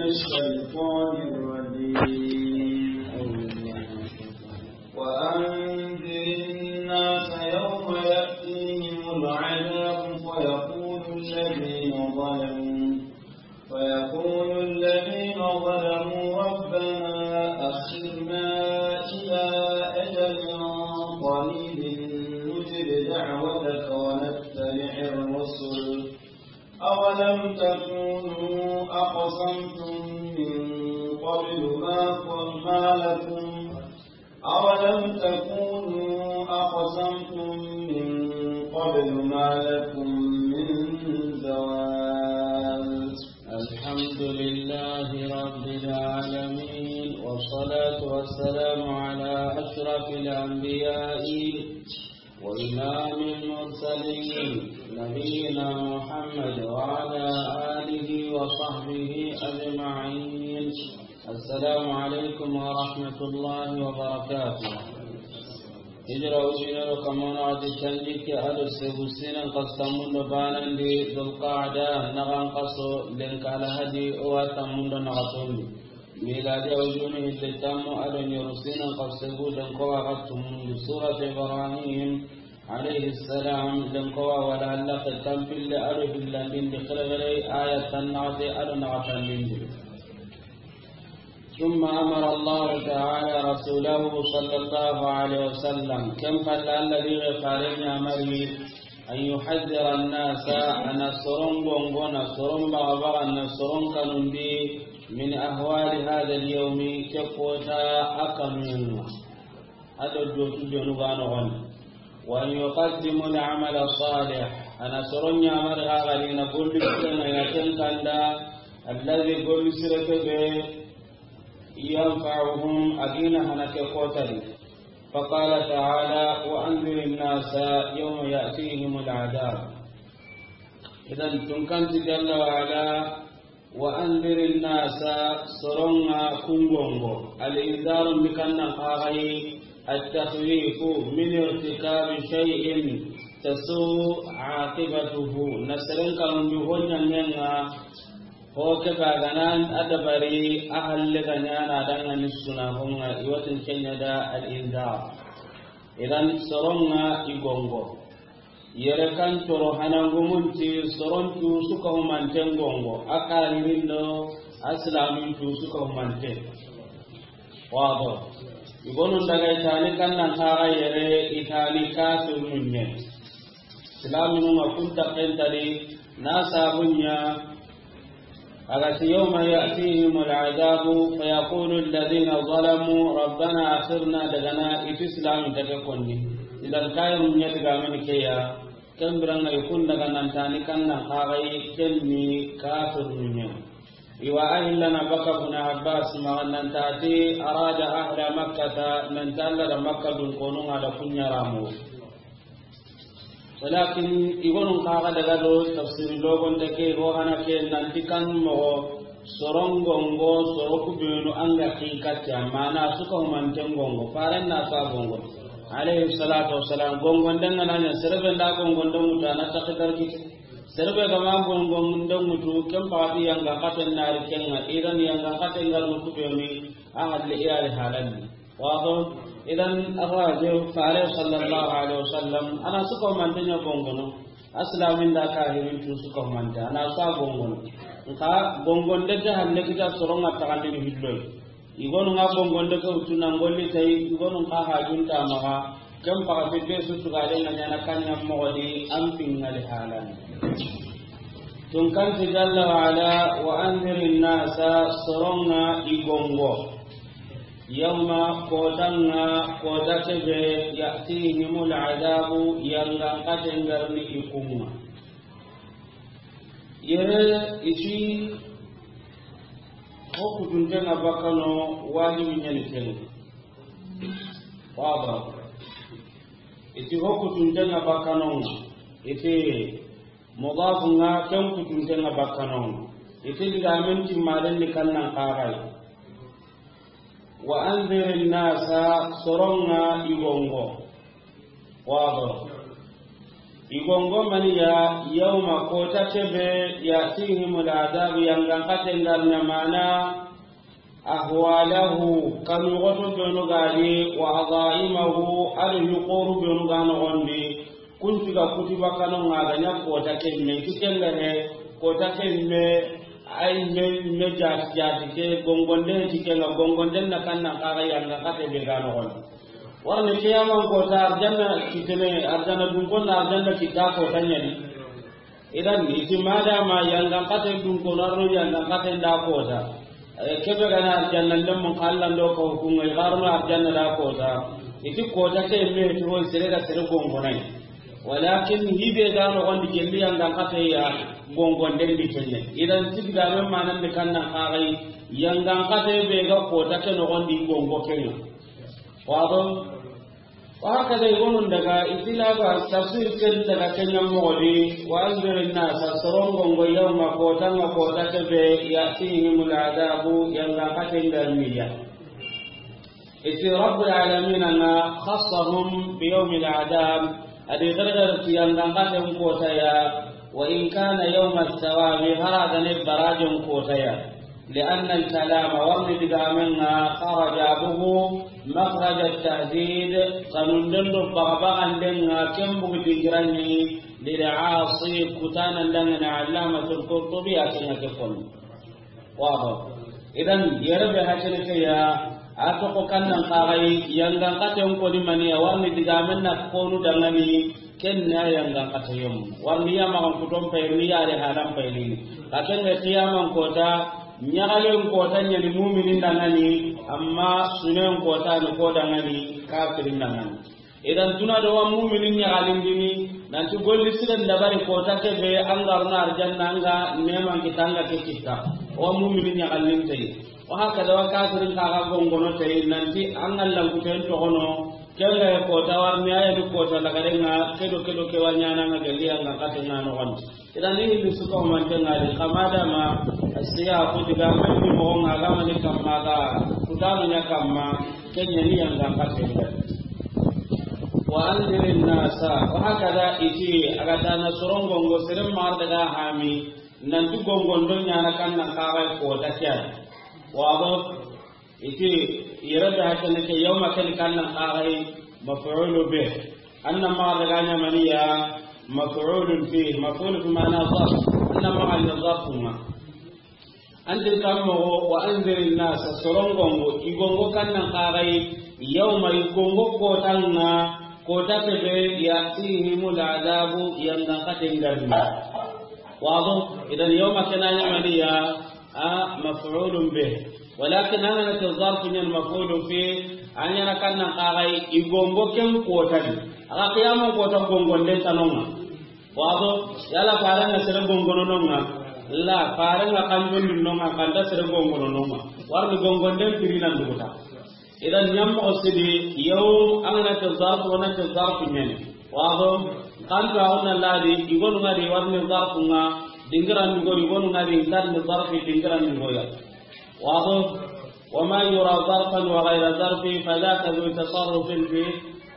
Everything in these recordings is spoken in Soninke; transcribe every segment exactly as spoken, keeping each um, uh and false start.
الشيطان الرجيم. وأنذر الناس يوم يأتيهم العذاب فيقول الذين ظلموا، فيقول الذين ظلموا ربنا أخرنا إلى أجل قريب نجب دعوتك ونتبع الرسل أولم تكونوا أقسمتم من قبل ما، ما لكم، أولم تكونوا أقسمتم من قبل ما لكم من زوال. الحمد لله رب العالمين، والصلاة والسلام على أشرف الأنبياء وإمام المرسلين نبينا محمد وعلى آله وصحبه أجمعين. السلام عليكم ورحمة الله وبركاته. Hijira ujinero kamana adi tanjikke ado segu sinan kastamundo banandi Dulqaada nagan kaso lenka Alhadi o wa tammundo naxatondi. Miladi awjunu hitte tammu ado ɲoru sinan kaso segu lenko wa ga tumundi. Surat Ibrahim alayhi salam lenko wa wala Alla ke tampille ado hillandindi xerexere aya tannaxate ado naxatandindi. ثم أمر الله تعالى رسوله صلى الله عليه وسلم، كم قال الذي قال يا مريم، أن يحذر الناس، أنا سرون غونغونا، سرون بغبغا، أنا سرون كانوندي، من أهوال هذا اليوم، كفوتا أكنون. Ado dotu jonu ga noxondi. وأن يقدموا العمل الصالح. Ana soro ɲamari xa gadi na golli sire na ina ken kanda, الذي golli sire ke be, ينفعهم a gina hana ke kotari. فقال تعالى: وأنذر الناس يوم يأتيهم العذاب. Idan tunkanti jalla wa ala, وأنذر الناس، soronga kungongo. الإنذار ndi kannan kaxayi, التخويف من ارتكاب شيء تسوء عاقبته. Na seren kanundi ho ɲangenga, ho ke bagana a dabari a halle ga ɲana danga ni suna honga iwatin kenya da الإنذار. Idan soronga igongo. Yere kan coro hanangumunti soron tu suka humanten gongo, a kahirindo a silamin tu suka humante. Wado. Igonun daga itani kannan kaga yere itani kafirunye. Silaminun ga kunta kentadi na sabunya. Agati: يوم يأتيهم العذاب فيقول الذين ظلموا ربنا أخرنا، dagana iti silamin take konni. Idan kayirun ɲa digamani keya. Ken biranga ikun daga nantani kannan kaxayi kenni kafirunye. Iwa ahillana baka Ibn Abbas maxa nantati أراد أهل مكة، nanti Alla da Makka dun konunga da kunyaramu. Walakin igonun kaga daga do tafsir logon da ke ho hana ke nanti kan mogo sorongongo soro kubenu anga kin katti amma na suka humanten gongo faran na sa gongo. Alayhi salatu wassalam gongon danga nanya serebe nda gongon da muta na takdar kiti. Serebe ga ma gongon da mutu ken pati yanga katen nari kenga idan yanga katen ngar no kubenu a halle iyali halalli. Wado. Idan arraje fare sallallahu alaihi wasallam ana suka mantanya gongono. Aslamin da kahirin tu suka manta ana sa gongono. Nka gongon de ta halle kita soronga takandi ni hilloy. Igonu nga gongon de ko tuna ngolli tay igonu nga hajunta maga. Kem paga fidde su tugale nga nyana kanya mogodi ampin ngali halan. Tunkanti jalla wa ala, وأنذر الناس، soronga igongo. Yawma, kotanga, kota kebe, يأتيهم العذاب، yangan katengarni ikunga. Yere iti hokutuntenga bakano wajibi nyani kenu. Waba. Iti hokutuntenga bakano. Iti mudafu nga ken kutuntenga bakano. Iti digamen timmaden ni kannan kagai. وأنذر الناس، soronga igongo. Wado. I gongo maniya, yawma, kota kebe, ya'tihimul adhabu, yangan xaten ga ri na mana, ahwalahu, kanu goto benu ga di, wa adha'imahu, ado yuqoru benu ga noxondi, kunti ga kutiba kanu nga ga nya kota kemme, kikenga he, kota kemme, ay me, me jati, jati ke, gongonde ti kenga, gongonden na kannan xaga yangan xate be ga noxondi. Warni kiyaman kota arjanna kitene, arjanna dunkon na arjanna kita kota ɲani. Idan, iti madama yangan xate dunkon arno yangan xate nda kota. Eh, kebe gana arjanna ndem mun xallan do ko hukunga, i garno arjanna da kota. Iti kota ke me ti ho sere da sere gongonai. Walakin hibe ga noxondi gelli yangan xate ya gongonden di kenne. Idan, sidiga men manan di kannan xagai yangan xate be ga kota ke noxondi gongo kenga. Wado? Wa haka dai gonun daga itilaba tafsir ken daga kenyan mogodi, wa anzirin nasa, soron gongo yawma, kota nga kota kebe, ya'tihimul adhabu, yangan xaten ga ri ya. Iti Rabbul Alamin nga khassahum bi yawmil adhab, adi gargar ti yangan xaten kota ya, wa in kana yawma thawabi, hara gane barajen kota ya. لأن الكلام, warni digamenga, خرج, a bugu, مخرج التهديد, kanunden do bagabaganden nga, ken bugu dingiranni, للعاصي, kutanan dangana, علامة القرطبي, a kenga ke konni. Wado. Idan, yere be hakene ke ya, a toxo kannan xagai, yangan xaten koni maniya, warni digamen na konu dangani, Ken na yangan xate yom. Warni ya maxan kuton payrini, ya re halan payrini. Ka ken ga qiyaman kota, ɲagalen kota ɲani muminin dangani, amma sunen kota ni ko dangani, kafirin dangani. Idan tuna do wa muminin ɲagalindini, nanti golli siren dabari kota kebe, an ga runa arjanna, an ga neman kita, an ga ke kita. Wa muminin ɲagalin tayi. Wa haka da wa kafirin ka ga gongono tayi, nanti an ga lankuten toxono, Kenga ya kota warni, a ya du kota lagarenga, kedo, kedo, ke wa ɲana nga gelli yangan xaten nga noxondi. Idan ni hilli su ko man kenga di, kama dama, asiya ku diga mani mo nga ga mani kamma ga, kutano nya kamma, kenya ni yangan xaten nga. Wa anzirin nasa, wa hakada iti, a ga tana soron gongo, seren mar daga hami, nanti gongondo ɲana kannan xagai kota ke ya. Wado? Iti, yere be hakene ke yawma ken kannan xagai maf'ulu bih. Anna ma daga ɲa maniya maf'ulun fi, maf'ulu fi ma'na zarf. Anna ma ni zarfu ma. Antin kammo wa anzirin nasa, soron gongo, i gongo kannan xagai, yawma, i gongo kotanga, kota kebe, ya'tihimul adhabu, yangan xaten ga ri. Wado? Idan yawma kena ɲa maniya, a, maf'ulun bih. Walakin an ga na ti zarfu ɲa ni maf'ulun fi, an ɲa na kannan xagai, i gongo ken kota di. A ga qiyaman kota gongonden tanonga. Wado, yala farenga sere gongono nonga. La, farenga kanjon nonga, kanta sere gongono nonga. Warni gongonden pirinan duguta. Idan ɲammoxo sidi, yawm, an ga na ti zarfu, wa na ti zarfu ɲani. Wado, kanto a wona ladi, i gonu nga di warni zarfu nga, dingiran dugo, i gonu nga di ntarni zarfi, dingiran dugo ya. Wado, وما يرى ظرفا وغير ظرف فذاك ذو تصرف في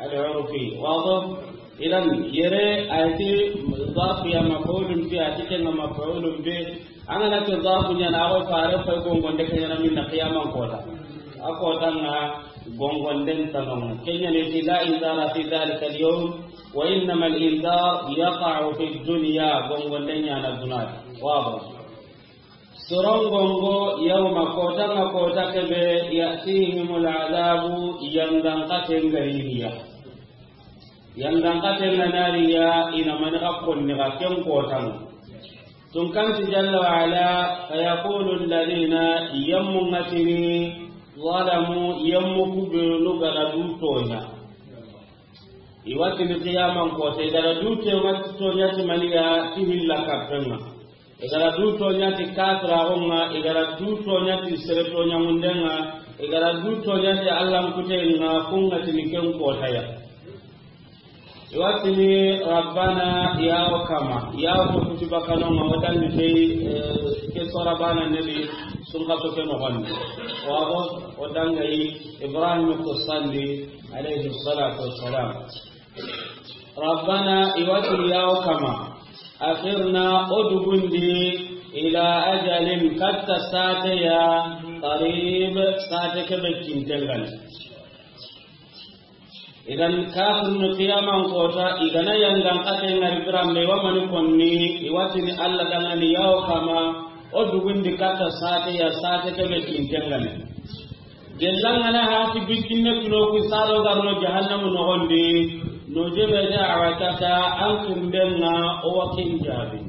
العرف. Wado, idan yere a ti zarfu ya maf'ulun fi, a ti kenga maf'ulun bi, An ga na ti zarfu ɲa na, a go fare fay gongonde ke ɲa na minna qiyaman kota. A kota nga gongonden tanonga. Kenya ne ti la inzara fi dhalika al-yawm, wa innama al-inzar yaqa'u fi dunya, gongonden ɲa na dunadi. Wado. Soron gongo yawma kota nga kota kebe ya'tihimul adhabu yangan xaten ga ri ya. Yangan xaten ga na ri ya, i na mani xa konni ga ken kotan. Tun kan ti jalla wa ala, fa yaqulu alladhina, yammu ngatini, zalamu, yammu kubenu ga ra du toɲa. I watini qiyaman kota, i ga ra du toɲa, toɲa ti maniya, ti hilla kappenga. I ga ra du toɲa ti kafiraxunga, i ga ra du toɲa ti sere toɲamundenga, i ga ra du toɲa ti Allan kutenga, kunga tini ken kotaya. I wa tini, Rabbana, ya o kama, ya o to kuti bakanonga, o dangi kei, eh, ke sora bana nebi, sunka to ke noxondi. Wabo, o dangayi, Ibrahim ko sandi, alayhi salatu wassalam. Rabbana, i wa ti ya o kama, akhirna, o dugundi, ila ajalin, katta saate ya, qarib, saate ke be kinten ga ni. Idan kafirnu qiyaman kota, i ga na yangan kate ngari biranbe, i wa mani konni, i wa tini Alla danŋa ni ya o kama, o dugundi katta saate ya, saate ke be kinten ga ni. Gellan ga na hati bikkinne tuno ku sado garno jahannamu noxondi, no jebe da awatata an kundenga o wa kin jaabi.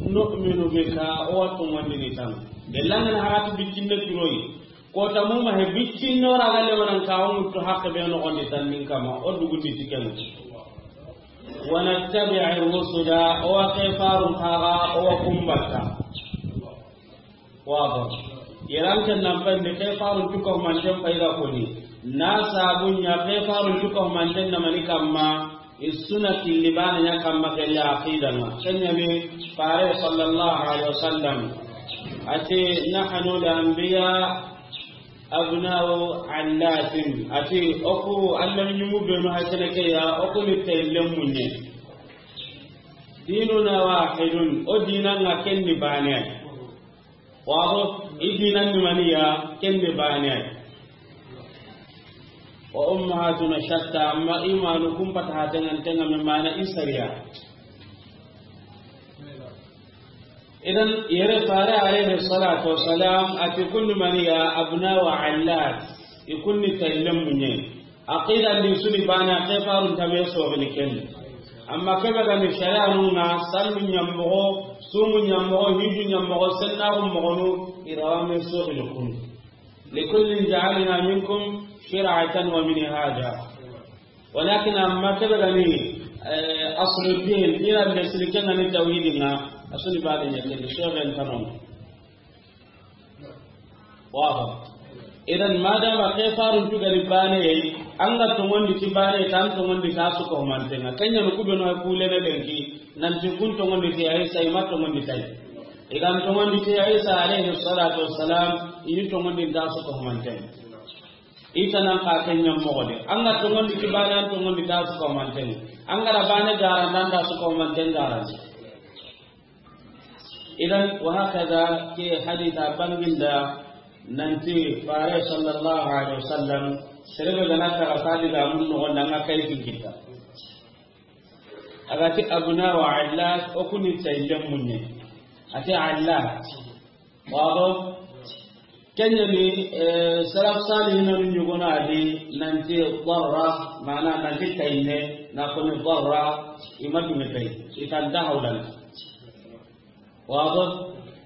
Nu'minu bika, o wa tongondini tan. Gellan ga na hati bikkinne tunoyi. Kota muma he bikkinno ragalle wanan ka o mutu hakke be noxondi tan nin kama, o dugundi tikenu. Wa nattabi'ir rusula, o wa kefarun kaga, o wa kumbata. Wabo. Yeranten nan pende kefarun cuko manten payda koni. Na sabunya kefarun cuko manten na mani kamma. Isuna killi bana nya kamma kelle aqida ma. Kenya ni fare sallallahu alaihi wasallam. Ati nahnu al-anbiya abna'u allatin. Ati oku Allah nyumu benu hakene ke ya oku ni tellem munye. Dinuna wahidun. O dinanga kenni bane. Wabo, i dinan ni mani ya, kende bane. Wa ummahatuna shatta, amma imanu kumpata hatengan tenga me mana isariya. Idan yere fare alayhi salatu wassalam ati kunni mani ya abna wa allat, i kunni taylen munye. Aqida ndi suni bana kefarun tabe so bini ken. Amma kebe ga ni sharia nunga sallu nyambo, sumu nyambo, hiju nyambo, senna moxonu, irawa me so bini kun. Likullin ja'alna minkum shir'atan wa minhaja. Walakin amma kebe ga ni, eh, aslu din, ira be siliken ga ni tawhidin nga, asuni bana nya ken so ben tanon. Waba. Idan madama kefarun tugani bane yayi, an ga tongondi ti bane, tan tongondi ta su ko mantenga. Kenya no kubeno ha kulene denki, nanti kun tongondi ti Isa, i ma tongondi tai. Idan tongondi ti Isa alayhi salatu wassalam, ini tongondi ta su ko mantenga. Ita nan ka kenya mogode. An ga tongondi ti bane, an tongondi ta su ko mantenga. An ga da bane gara nan ta su ko mantenga. Idan, wa hakaza ke haditha banginda nanti fare sallallahu alaihi wasallam, serebe gana taga sadi ga mun no gonda nga kai kin kita. Agati abna wa allat, o kuni taylen munye. Ati allat. Wabo. Kenya ni, eh, salaf salihin ni nyugona adi nanti darra, mana nanti tayne, na kuni darra, imatu me tay. Itan da hawlan. Wabo,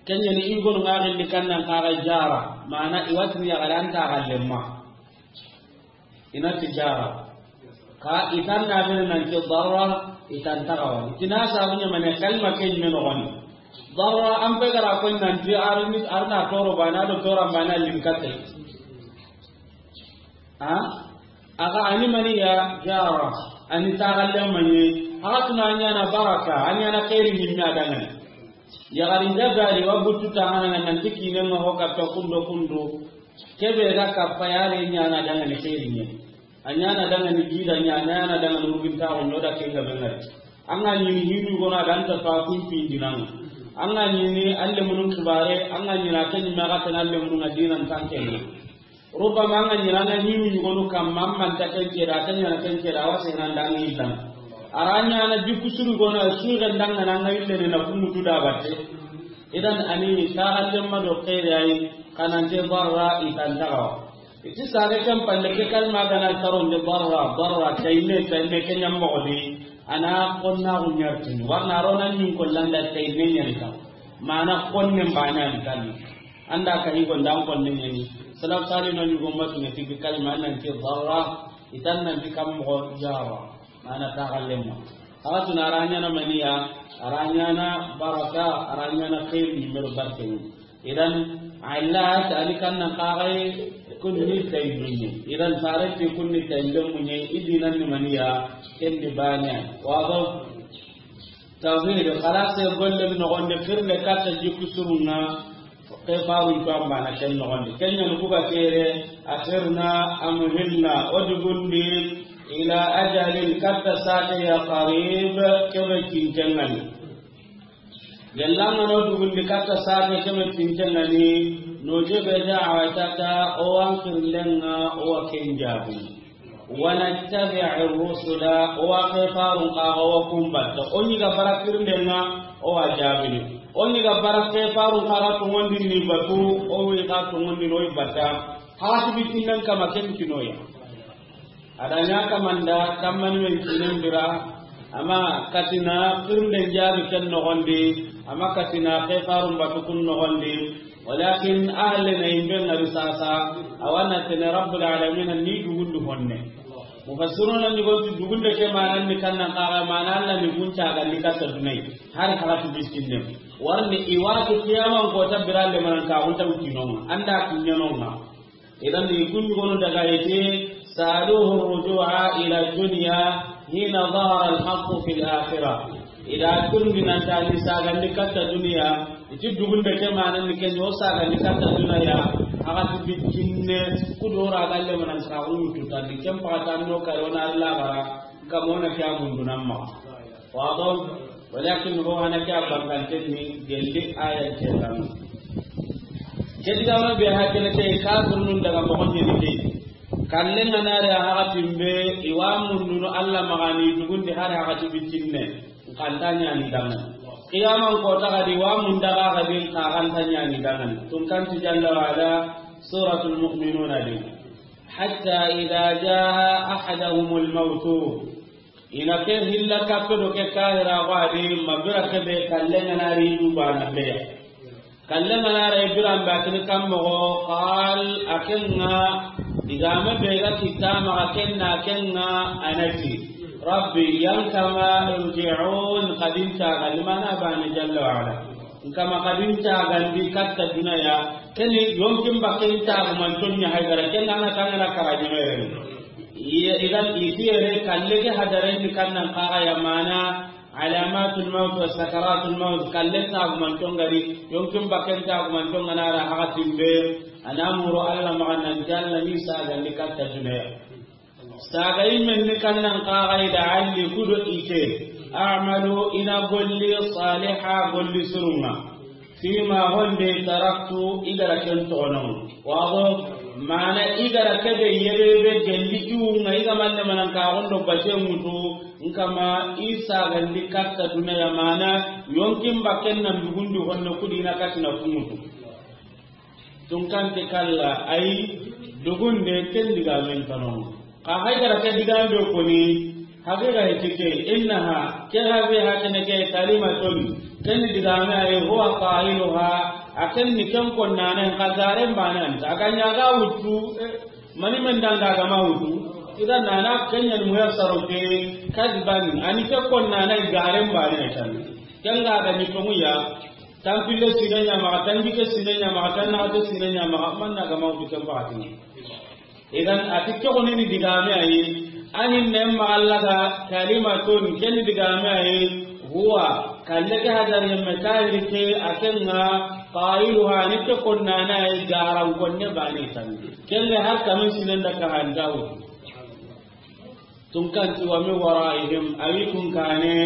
kenya ni i gonu nga gilli kannan kaga jara, mana i wa tini ya garanta ga lemma. Ina ti jara. Ka itan na gilli nanti darra, itan tagawa. Tina sabunya mane kalma ken men woni. Darra an pe gara ko nanti arni arna toro bana do toro bana linkate. Ha? Aga ani mani ya jara, ani tagalle mani. Aga tuna nyana baraka, ani ana khairi ni mi adangani. Ya gari jabali wa butu ta hana nan tiki ne ma ho ka to kundo kundo. Kebe ga ka payare nyana dangani khairi ni. Anyana dangani gida nyana, anyana dangani urgin ta on yoda kenga bengari. Anga ni hinu gona dan ta fa kun pindinanga. Anga ni alle munun kibare, anga ni na kan ma ga tan alle munun adinan tankene. Rubama an ga ɲi na, an ga ɲi mi ɲugonu kamma, an man ta ken ceda, ken ɲa na ken ceda, a wa sehena nda an ga yilla. A ra ɲa na jikku suru gono, a suxe nda an ga na, an ga yille ne na kumutu da batte. Idan ani taxandemma do xeeri ayi, xa nante barra i tan taxawa. I ti sare ken palle ke kalma ga na taronde barra, barra, tayme, tayme, ke ɲa moxo di, a na xonnaxu ɲartini. Warna a ro na ɲin kollanda tayme ɲani kan. Mana xonne mbane an tan. Anda ka higo ndan konne ɲani. Salaf sali no ɲugo matu ne tigi kalima nan ti darra, itan nan ti kam moxo jara. Mana taxallemma. Awa tuna a ra ɲana maniya, a ra ɲana baraka, a ra ɲana xeeri ni mero barke ni. Idan, Allah ta ali kan nan kaxay kunni tay dunni. Idan, farenti kunni tay dunni, idinan ni maniya, kendi bane. Wado? Tawhid, xalase golle noxonde, xirne katta jikku surunga, ke farun to ambana ken noxonde. Kenya no kuga kere, akhirna, amhilna, o dugundi, Ila ajalin, katta saate ya, qarib, kebe tinten ŋa ni. Gellanga no dugundi katta saate kebe tinten ŋa ni, no jebe da awatata, o wa n xirlen ŋa, o wa ken jabu. Wa nattabi'i rusula, o wa ke farun kaga, o wa kun batta. O ɲi ga bara xirlen ŋa, o wa jabini. O ɲi ga bara ke farun kaga, tongondi ni batu, o wi ga tongondi no i batta. Hati bitinnen kama ken kinoya. A da ɲa kamanda, kammani men kinen bira, ama katina xirlen jabi ken noxondi, ama katina ke farun batu kun noxondi, walakin ahalle na yimbe ŋari sasa, a wa na tene Rabbul Alamin ni dugundu honne. Mufassiruna ni gonti dugunde ke manan ni kannan kaga mana Alla ni gunta ga ni katta dunai, har hagati bitinne. Warni i wati qiyaman kota biralle manan ka gunta utinonga, anda kinyanonga. Idan i kun gonu daga ite, saluhu rujua ila dunya hina zahara alhaqu fi alakhirah. Ida kun dinan ta ni sagandi katta duniya, iti dugunde ke manan ni ken yo sagandi katta duniya, hagati bitinne kudora galle manan ka guntu tan ni ken pagatan no karona Alla gara, kamona kya mundunan ma. Wado, walakin ho hana ke a banganten ni gelli ayan ke tan. Ke digame be hakene ke kafirnun daga moxon ni ke. Kallen ŋa na re a hakatin be, i wa mundunu Alla maxa ni dugundi hari hakati bitinne. Kanta ɲani dangan. Qiyaman kota gadi wa mun daga gadi ka kanta ɲani dangan. Tun kanti jalla wa ala, Suratul Mu'minuna di. Hatta idha jaa ahadahumul mawtu. Ina ke hilla kappe do ke kahira ko adi mabira ke be kallen ŋa na ri du bana be. Kallen ŋa na ri biran ba kin kam mo qal akenga digame be ga kitama akenna akenga anati. Rabbi yan kama irji'un, kadin ta galimana bani jalla wa ala. Nkama kadin ta gandi katta dunaya. Keni yonkin bakken ta manton nya haydara kenna na tangana karaji mere. Iya, idan itiyere kalle ke hadaren ni kannan kaga ya mana alamatul maut wa sakaratul maut, kalle ta manton gari, yonkin bakken ta manton ngana ra hakatin be, anamuro Alla maxa nan jalla ni saga ni katta dunaya. Saga yimen ni kannan kaga ida alli kudo ite, a'malu ina golli saliha golli surunga. Fima honde taraktu igara ken toxonon. Waxo mana igara kebe yerebe gelli iwunga iga malle manan ka gondo bate mutu. Nkama isa gandi katta dunaya mana yonkin bakken nan dugundi honno kudina katina kumutu. Tunkante kalla ay dugunde ken digamen tanon. Ka haydara ke digame be koni, haqiqa he tike, innaha, ke habe hakene ke kalimatun, ken digame ay huwa qailuha, aken ni ken konnana ka garen banan, aganya ga wutu, eh, mani men danga ga ma wutu, idan nana ken yan muyassaro ke, kadban, ani ke konnana garen banan tan. Ken ga ga ni tonguya, tampille sinenya ma, tanjike sinenya ma, tanna de sinenya ma, manna ga ma wutu ken batin. Idan a ti ke xoni ni digame ayi, anin ne ma Alla ga kalimatun ken digame ayi, huwa kalle ke hadar yemme kahiri ke akenga qailuha ni ke konnana ayi garan konne bani tan. Kelle har kamen sinen da ka handawo. Tunkanti wa min waraihim awi kun kane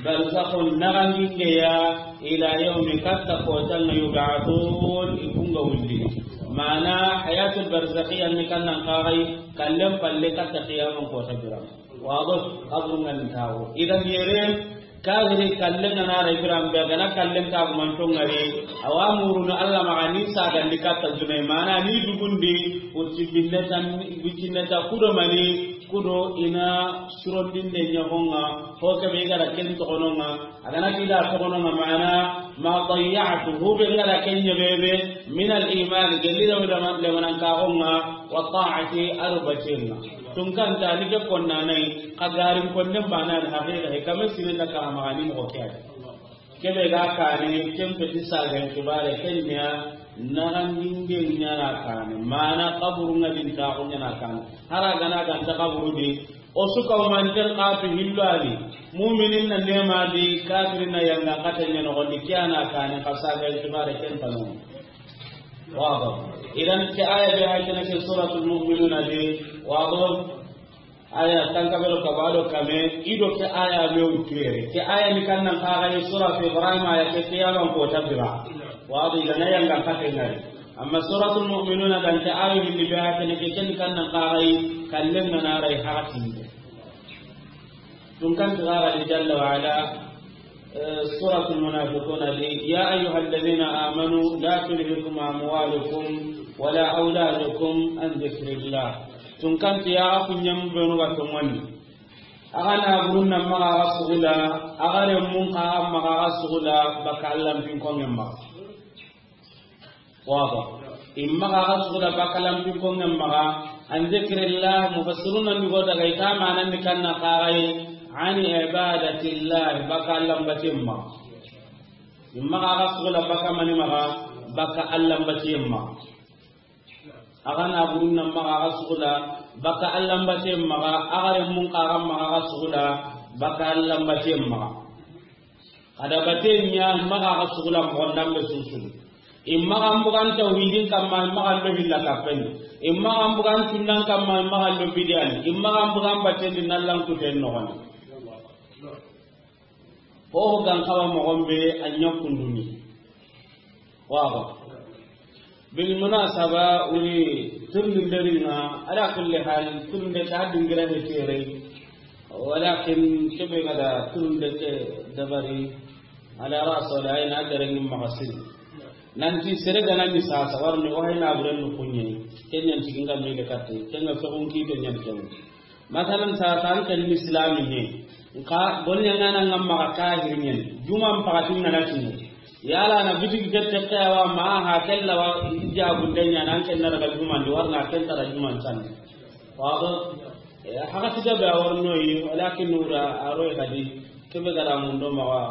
barzakhun nagangingeya ila yawmi katta kotan yub'athun ikunga wundi. Mana hayatul barzakhiya ni kannan kagai kallen palle katta qiyaman kota biran. Wado qabrun ngan tawo. Idan yere kahiri kallen ngana ra biran be gana kallen ta manton ngari. Awa muruna Alla maxa ni sagandi katta dunay mana ni dugundi uti binneta, uti binneta kudo mani. Kudo ina surondinde ɲaxonga, ho kebe i gara ken toxononga, a gana ti da toxononga mana, ma dayya'tu, hube ngara ken ɲebebe, min al iman, gelli da wada lemanan kaxonga, wa ta'ati, aro batenga. Tunkanta ni ke konnanai, xa garin konnen bana al haqiqa, he kame sine da ka magani mo kiyade. Kebe ga kane, ken peti sagan kibare, ken ɲa, naxandinde ɲana kane. Mana kaburu nga din ta ko ɲana kane. Hara gana ganta kaburu di, o su ka manten katu hillani. Muminin na nema di, kafirin na yanga kata ɲana ko di kiyana kane, ka sagan kibare ken tanu. Wado. Idan ke aya be hay kana ke suratul mu'minuna di, wado. Aya tanka bero ka bado kame, ido ke aya me wutu yere. Ke aya ni kannan kaga yi suratu Ibrahim aya ke ke yalan ko tabira. Wadi gana yanga kate ngari. Amma suratul mu'minuna dan ke aya ni be aya ke ni ke ken kannan kaga yi kallen na rai hakati. Tun kan tirara li jalla wa ala, eh, suratul munafiquna li, "Ya ayyuhalladhina amanu la tulhikum amwalukum wala auladukum an dhikrillah." Tun kan ti ya ku nyam benu ga to mani. Aga na burun na maga ga sugula, aga re mun ka maga ga sugula, baka Allah bin ko ngemma. Waba. Imma ga ga sugula baka Allah bin ko ngemma. An dhikrillah, mufassiruna ni go daga ita manan ni kanna kagai, ani ibadatillah, baka Allah batimma. Imma ga ga sugula baka mani maga, baka Allah batimma. Aga na burun na maga ga sugula baka Allah batimma, aga re mun kaga maga ga sugula baka Allah batimma. Ada baten ɲa maga ga sugula mo ndambe susu. Imma ga mbugan tawhidin kamma, imma ga lo hilla kapen. Imma ga mbugan tunnan kamma, imma ga lo bidiyan. Imma ga mbugan baten di nallan kuten no. Ho gan kawa mo gombe a ɲa kunduni. Waba. Bil munasaba, wuri turni nderinga, ala kulli hal, turni ta dingira ne tere. Walakin kebe gada turni ke dabari, ala raso da ina garin magasin. Nanti sere gana ni sasa warni wahina buren no kunye. Kenyan tiginga mele katte, kenga sogun ki kenyan kenyan. Masalan, sa tan ken islami ne. Nka, golnya ngana ngam maga kahir nyen. Juman pakatin ngana tinye. Yala na bitigi kette kawa ma ha kella wa ija gundenya nan ken na daga juman di warna ken tara juman san. Wado, eh, haka tiga be warno yi, walakin nura aro kadi. Kebe gara mun do maga,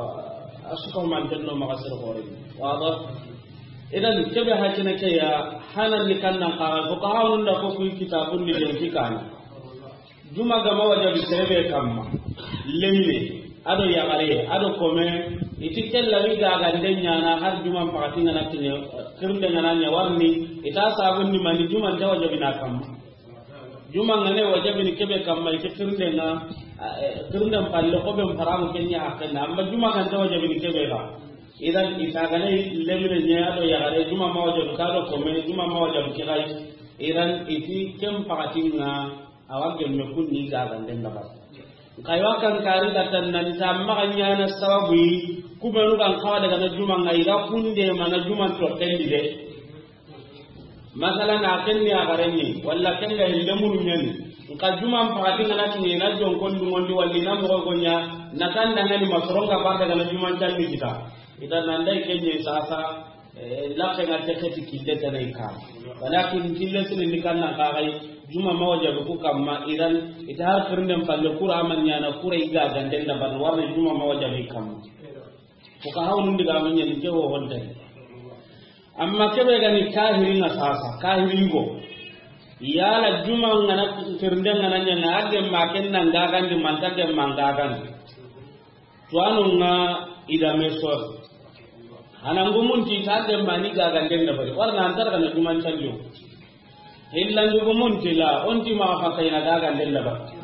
asuka man den do maga sir hore. Wado. Idan kebe hakina ke ya hanan ni kannan kaga ko ka hawun da ko ku kitabun ni den kikana. Juma gama wajabi sere be kamma. Lemme, ado yagare, ado kome, iti kella wi gagande ɲana har juma pakati ngana kiɲe, kirnde ngana ɲa warni, ita sabun ni mani juma nta wajabi na kamma. Juma ngane wajabi ni kebe kamma, iti kirnde nga, eh, kirnde palle ko ben paramu kenya hakena, amma juma kan ta wajabi ni kebe ga. Idan ita gane lemme ɲa ado yagare, juma ma wajabi ka do kome, juma ma wajabi kigai. Idan iti kem pakati nga, Awa gemme kun ni gaganden dabari. Nka yo kan kari ga tan nan ta maga ɲana sababu yi, kubenu gan kawa daga na juma nga iga kunde mana juma to kendi de. Masala na kenni a garenni, walla kenga hille munu ɲani. Nka juma pakati ngana kini na jon kon du ngondi walli na mo gonya, na tan da ngani masoronga ba daga na juma tanni kita. Ita nan dai kenye sasa, Eh, laxe nga te xeti kille tanay ka. Walakin kille sini ni kanna ka gai, juma ma wajabi ku kamma, idan ita har kirnden palle kura man ɲana kura iga ganden da ban warne juma ma wajabi kamma. Ko ka hawnun diga mun ɲani ke wo honde. Amma kebe gani kahiri nga sasa, kahiri go. Yala juma ngana kirnden ngana ɲana age ma ken nan gagandi man tage man gagandi. Tuwano nga idame sor. Hana ngumunti ta demba ni gaganden dabari. Warna antar kana juman tanjo. Hillan ngumunti la, onti ma fa kayna gaganden dabari.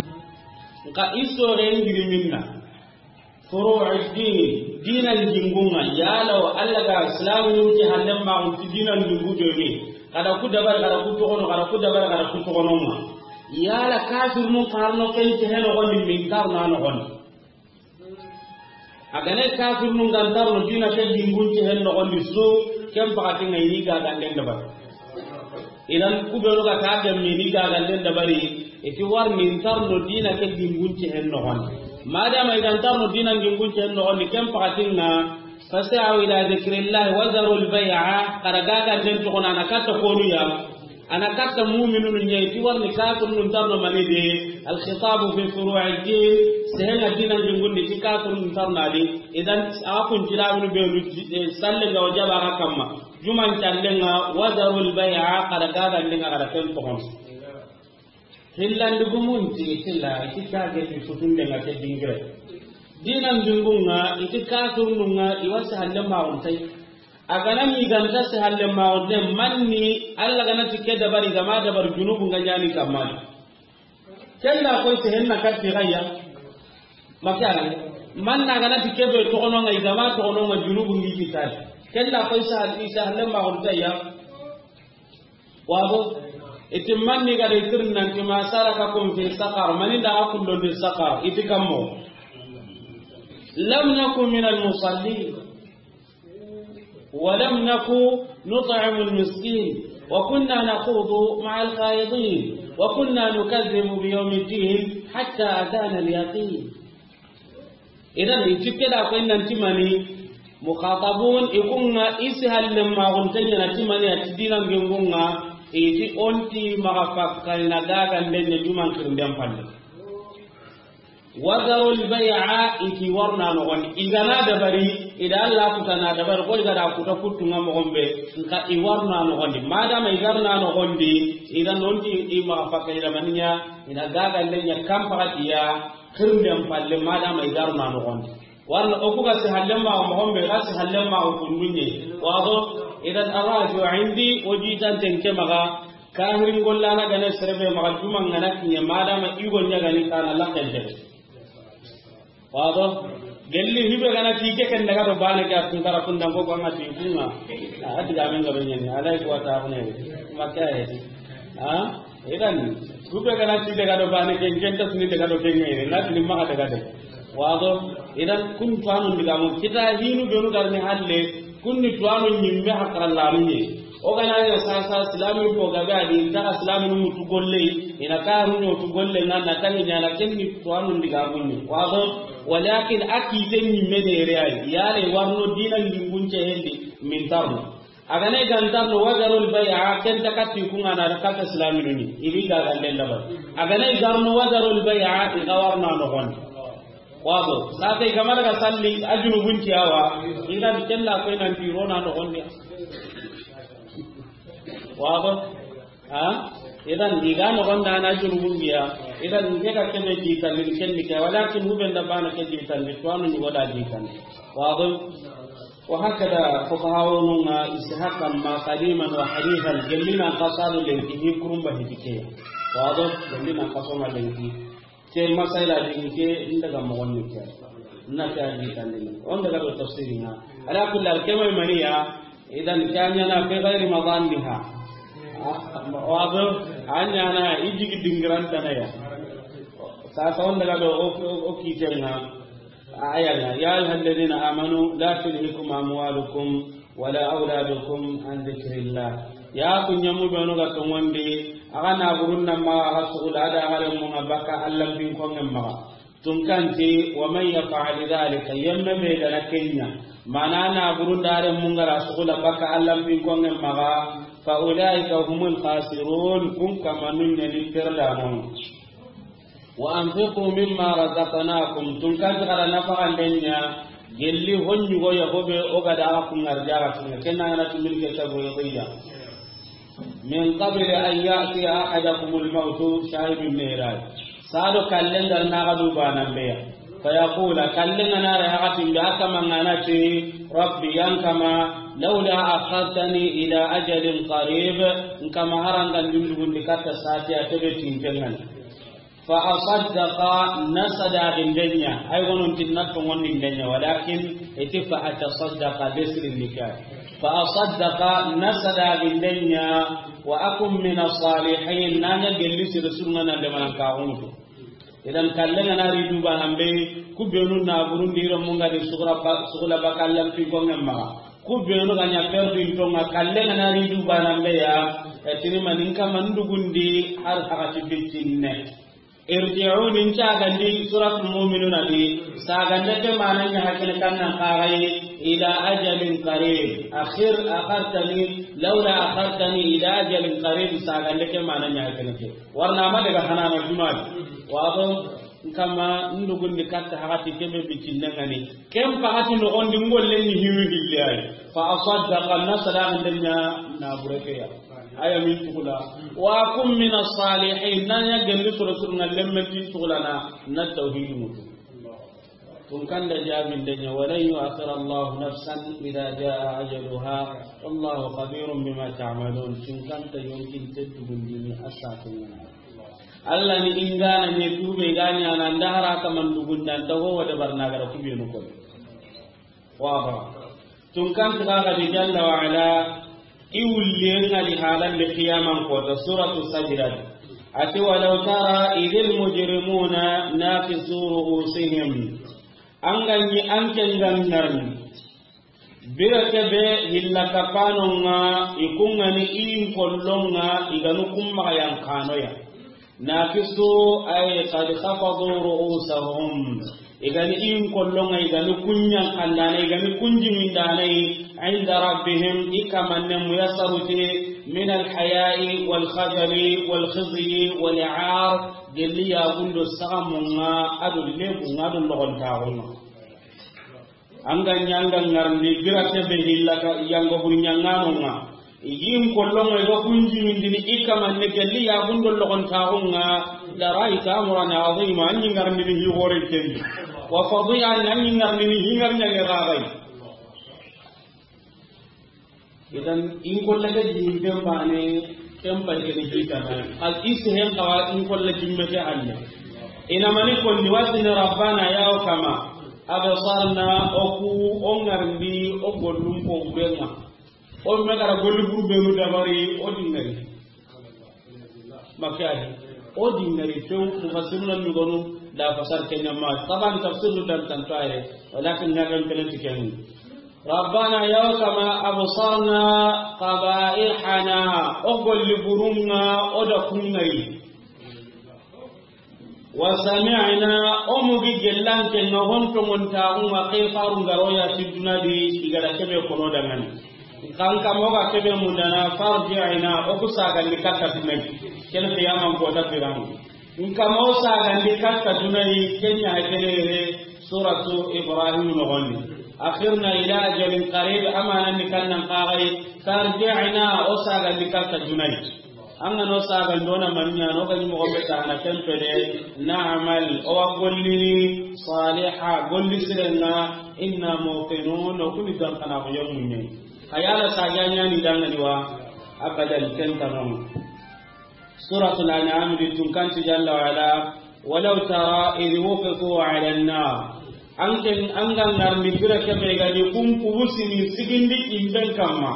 Nka isore ngiri minna. Furu'u din, dinan jingunga, yala wa Allah ga Islam nun ti handen ma unti dinan jingu jomi. Kada ku dabar, kada ku tokono, kada ku dabar, kada ku tokono ma. Yala kafir nun karno ken ti heno gondi min karna no gondi. A gane kafirnun gantarno dina ke dingun ci hen noxondi su, ken pakati nga ini gaganden dabari. Idan kubenu ga ta gemme ini gaganden dabari, iti war nintarno dina ke dingun ci hen noxondi. Madama idantarno dina dingun ci hen noxondi, ken pakati nga, فسعوا إلى ذكر الله وذروا البيع, kada gaganden toxona na katta konuya. Ana katta mu'minunu ɲa yi, ti warni kafirnun tarno mani de, al khitabu fi furu'i din, sehenga dinan jungundi ti kafirnun tarno adi, idan a kun tilamunu be nu, eh, salle nga wajaba ga kamma, juman callenga, wa dharul bay'a, kada gagandenga kada ken toxon. Hillandi gumunti, tilla, iti kage ti sutundenga ke dingire. Dinan jungunga, iti kafirnunga, iwasi halle ma untay. A gana ni ganta se halle ma wonde manni, Allah gana ti ke dabari gama dabar junubu nga ɲani kamma. Ken da koy te henna katti gayya. Makana. Man na gana ti kebe toxono nga igama toxono nga junubu ngi kitali. Ken da koy sa isa halle ma on tayya. Wabo. Iti man ni gada itirnan ti ma salakakum fi saqar. Mani da akun don di saqar. Iti kammo. Lam nakum min al musallin. ولم نك نطعم المسكين وكنا نخوض مع الخائضين وكنا نكذب بيوم الدين حتى أتانا اليقين. Idan, i tikke da koy nan timani, mukhatabun, i kunga isi halle ma gun tanya na timani a ti dinan gengunga, i ti onti maga fakka ina gaga ndenya juman kirnden palle. Wazarul bay'a, i ti warna noxondi. I gana dabari, i da Allah kutana dabari, ko i gada kuta kuttunga moxon be, nka i warna noxondi. Madama i garna noxondi, i da nonti i maxa fakka i da maniya, i na gaga lenya kampakatiya, kirnden palle, madama i garna noxondi. Warna oku ga si hallen ma moxon be, ga si hallen ma kundunye. Wado, idan araju indi, o jitan tenke maga, Kahirin gollana gane serebe maxa juma ngana kiɲe madama igo ɲagani kana laxente. Wado gelli hibe gana ti ke ken daga do bane ke a tunkara kundan ko ganga ti kunga. A diga men gabe ɲani alay ko ta ko ne makka he. Ha idan hube gana ti daga do bane ke ken ta suni daga do ke ngere na ti maxa daga de. Wado idan kun tuwanu diga mo kita hinu benu garni halle. Kunni tuwano ɲimme hakarallanu ɲe. O gana ya sasa silami ko gabe adi inta silami nu mutu golle. Ina karu ɲo tu golle na na tangi ɲana kenni tuwano ndiga gunni. Wado walakin akite ɲimme de reay. Yale warno dina ndingunce hendi min tarno. Agane gantarno wajarul bay'a ken takati kungana da kata silami nuni. Ibi ga gande labar. Agane garno wajarul bay'a iga warna no gon. Wado sate gamara ga salli ajunu gunti awa. Idan kella ko nan tirona no gon. Wado ha idan diga no gonda na jurubun biya. Idan nge ka kebe di tan ni ken ni ke walakin hubenda bana ke di tan ni to anu ni goda di tan. Wado wa hakada fuqahaununga istihaqqan ma qadiman wa hadithan gellina qasadu le ki kurumba hitike. Wado gellina qasoma le ki Ke masaila di ke inda ga mogon ni ke. Na ke a di kan ni. On daga do tafsiri na. Ala kulli hal kema maniya idan kanya na fi ghairi madanniha. Wado anya na ijigi dingiran tanaya. Sasa on daga do o kitenga. Aya na ya ayyuhalladhina amanu la tulhikum amwalukum ولا أولادكم عن ذكر الله. Ya ku ɲamu benu ga tongondi, aga na burun na ma aga sugula da aga mun baka Allah bin kongen maga. Tunkanti wa man yaf'al dhalika yamma be gana kenya. Mana na burun da are mun gara sugula baka Allah bin kongen maga. Fa ulaika humul khasirun kun kamanun ne ni perdanon. Wa anfiqu mimma razaqnakum, tun kan gara nafaxanden ɲa gelli honɲugo ya hobe o ga da kun arjaga tinga kenna ngana tumil ke tabo ya bayya. Min qabli an ya'tiya ahadakumul mautu shahidun mirai. Sado kallen gar na ga du banan beya. Fa yaqula kallen ngana ra hakatin be akama ngana ti rabbi yankama lawla akhartani ila ajalin qarib. Nkama haranga ndundugundi katta sati a tebe tinkengan. Fa asaddaqa na sadaqindenya ay gonon tinna tongondindenya walakin iti fa atasaddaqa desri nikah. Fa asaddaqa na sadaqindenya wa akun min as-salihin nanya gelli sir sunna na de manan ka unuto. Idan kallenga na ridu ba nambe ku benu na burundi ro munga de sugura ba sugula ba kallan pi gonga ma ku benu ganya perdu tonga kallenga na ridu ba nambe ya. Etini maninka mandugundi har hakati bitinne. Irji'u nin cagandi suratul mu'minuna di sagande ke mananya hakene kannan kagai ila ajalin qarib akhir akhartani lawla akhartani ila ajalin qarib sagande ke mananya hakene ke warna ma daga hanana jumadi wado nkama ndugundi katta hakati kebe bitinne ngani. Ken pakati nogondi ngollen ni hiwi hilli ay. Fa asaddaqa na sadaqan denya na bureke ya. Aya min tukula. Wa kum min as-salihin na ya gelli soro suru ngallen men tin tukula na na tawhid mutu. Tun kanda jabin denya walan yu'akhir Allah nafsan idha jaa ajaluha wallahu khabirun bima ta'malun. Tun kanta yonkin tettugundini asatun. Alla ni in ga na ɲi tuube ga ɲaana nda hara kaman dugundan ta ho wa dabarna gara kubenu ko. Waba. Tun kan tiga ga di jalla wa ala, i wulliyen ŋa di halan di qiyaman kota, suratu Sajda. A ti, "Walaw tara idhil mujrimuna nakisu ru'usihim." An ga ɲi an ke ŋa ŋarni. Bire ke be hilla kapanon ŋa, i kun ŋa ni i n kollon ŋa, i ga nu kun maxa yan kanoya. Nakisu, ay qad khafadu ru'usahum. I ga ni i n kollon ŋa, i ga ni kun ɲan kandana, i ga ni kun jimindanai, inda rabbihim, i kamanne muyasaruti, min alhaya'i wal khajali wal khizyi wal 'ar, gelli ya gundo sagamun ŋa, ado lebun ŋa, ado logontaxun ŋa. An ga ɲi an ga ŋarni bire ke be hilla ka yanga bur ɲanŋanon ŋa. I gi n kollon ŋa i ga kun jimindini i kamanne gelli ya gundo logontaxun ŋa. Dara i ta amran azima, an ɲi ŋarni ni hi hore kendi. Wa fadihan, an ɲi ŋarni ni hi ŋar ɲange ragai. Idan, in kolla ke jimben bane, ken pay ke ni kita na. Al isi hen kawa in kolla jimbe ke halle. Ina mani konni wasini rabbana ya o kama. Absarna o ku o ŋarndi o gollum ko burenga. O me gara golli buru benu dabari o dingari. Makka di. O dingari tew mufassiruna nugonu da fasar kenya ma. Taban tafsir dan tantare. Walakin ngaran pelen tikeni. Rabbana ya kama absarna qabaihana, o golli burunga o da kungari. Wa sami'na, o mugi gellanke nga honto ngonta unga ke faru ngaroya ti dunadi igara kebe kono dangani. Kan kamo ga kebe mundana farji'na, o kusagandi katta tunai. Ken qiyaman kota firan. Nka mo sagandi katta dunai, kenya hakenere suratu Ibrahim nogondi. Akhirna ila ajalin qarib, amana ni kannan qagai, tarji'na, o sagandi katta dunai. An ga no sagandi ona mannya no ga ni mo be ta na tempele, na'mal, o wa gollini saliha, golli sirenga, inna muqinun, o kuni dan kana ko yamunne. Ayala saganya ni dangani wa abadan ken tanon. Suratul An'am di tun kanti jalla wa ala, "Walau tara idh wuqifu ala an-nar." An ken, an ga ngarni bire ke be ga ni kun kubusini sigindi imben kamma.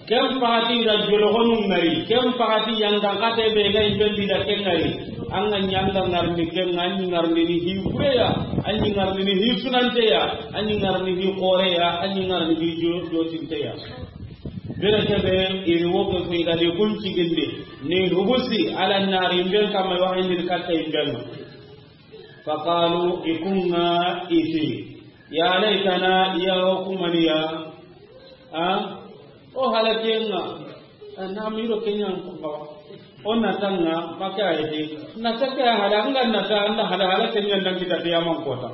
Ken pagati da jologonu ngari, ken pagati yanga kate be ga imben di da ken ngari. An ga nyanga ngarni ken, an ngarni ni hi kureya, an ngarni ni hi sunanteya, an ngarni hi koreya, an ngarni hi jo-, jotinteya. Bire ke be, idh wuqifu, i ga di kun cigindi, ni hubusi, ala nari, imben kamma, wa indi katta imben. Faqalu, i kun ŋa i ti, ya laitana, ya hukumaniya, a? O halakenga, na miro kenya nkukawa. O natanga, maka ede, nataka hala, anga nata, anda hala, halakenga, ndangi tati ya mankota.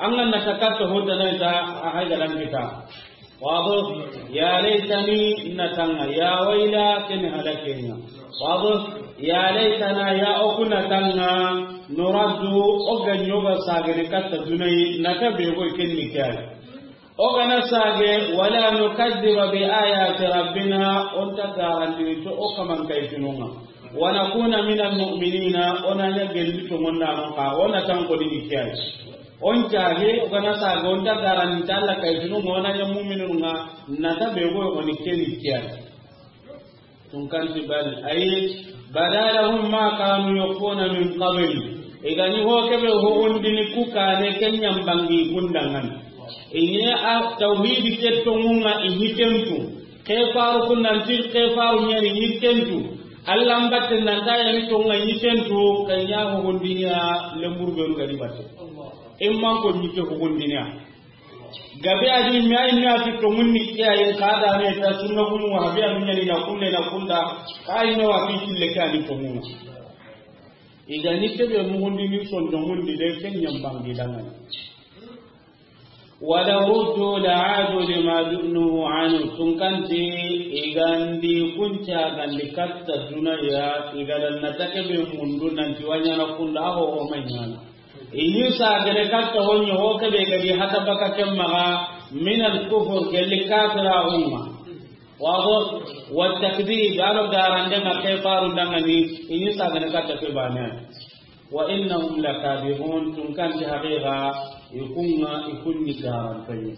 An ga na ta katta hoda na ta a hayda dan kita. Wado, ya laitani natanga, ya waila ken halakenga. Wado, ya laitana ya oku natanga, nuraddu, o ga nyoga sagene katta dunai, nata be go ken ni kay. O ga na sage, wala nukaddiba bi ayati rabbina, on ta garandi to o kaman kay tununga. Wa nakuna minal mu'minina, ona nya gelli to monna non ka, ona tan ko di kay. On cage, o ga na sage, on ta garanta Alla kay tunu, o na ɲa mu'minun ŋa, na ta be go, o ni keni kiya. Tun kanti bal, ay, bada lahum ma kanu yukhfuna min qabl. I ga ni ho ke be ho undi ni ku kane ken ɲambangi kundangan. I ni a tawhidi ke tonŋun ŋa i ni tentu. Ke faru kun nan ti ke faru ɲani ni tentu. Alla mbatte nan ta yani tonŋa ni tentu, kan ya ho hundinya lemburu beru ga di batte. Imman ko ni ke ho hundinya. Gabe adi mi ay mi ati tonŋun ni ke ay ka da ne ta sunna kun wa habi anu ɲani na kunne na kunda. Ay no wa fi kille ka ni tonŋun. I ga ni ke be mu hundi ni son tonŋun di de ken ɲambangi dangan. Walaw ruddu la'adu lima nuhu anhu, tun kanti i ga ndi kunca ga ndi katta dunaya, i ga dan na ta ke be mundu nanti wa ɲana kunda ho o ma ɲana. I ni sagene katta ho ɲo ho ke be ga di hata baka ken maga, min al kufur, gelli kafira umma. Wado, wa takdib, a do garande ŋa ke faru dangani, i ni sagane katta ke bane. Wa innahum lakadibun, tunkanti haqiqa, i kunŋa, i kunni garantoyi.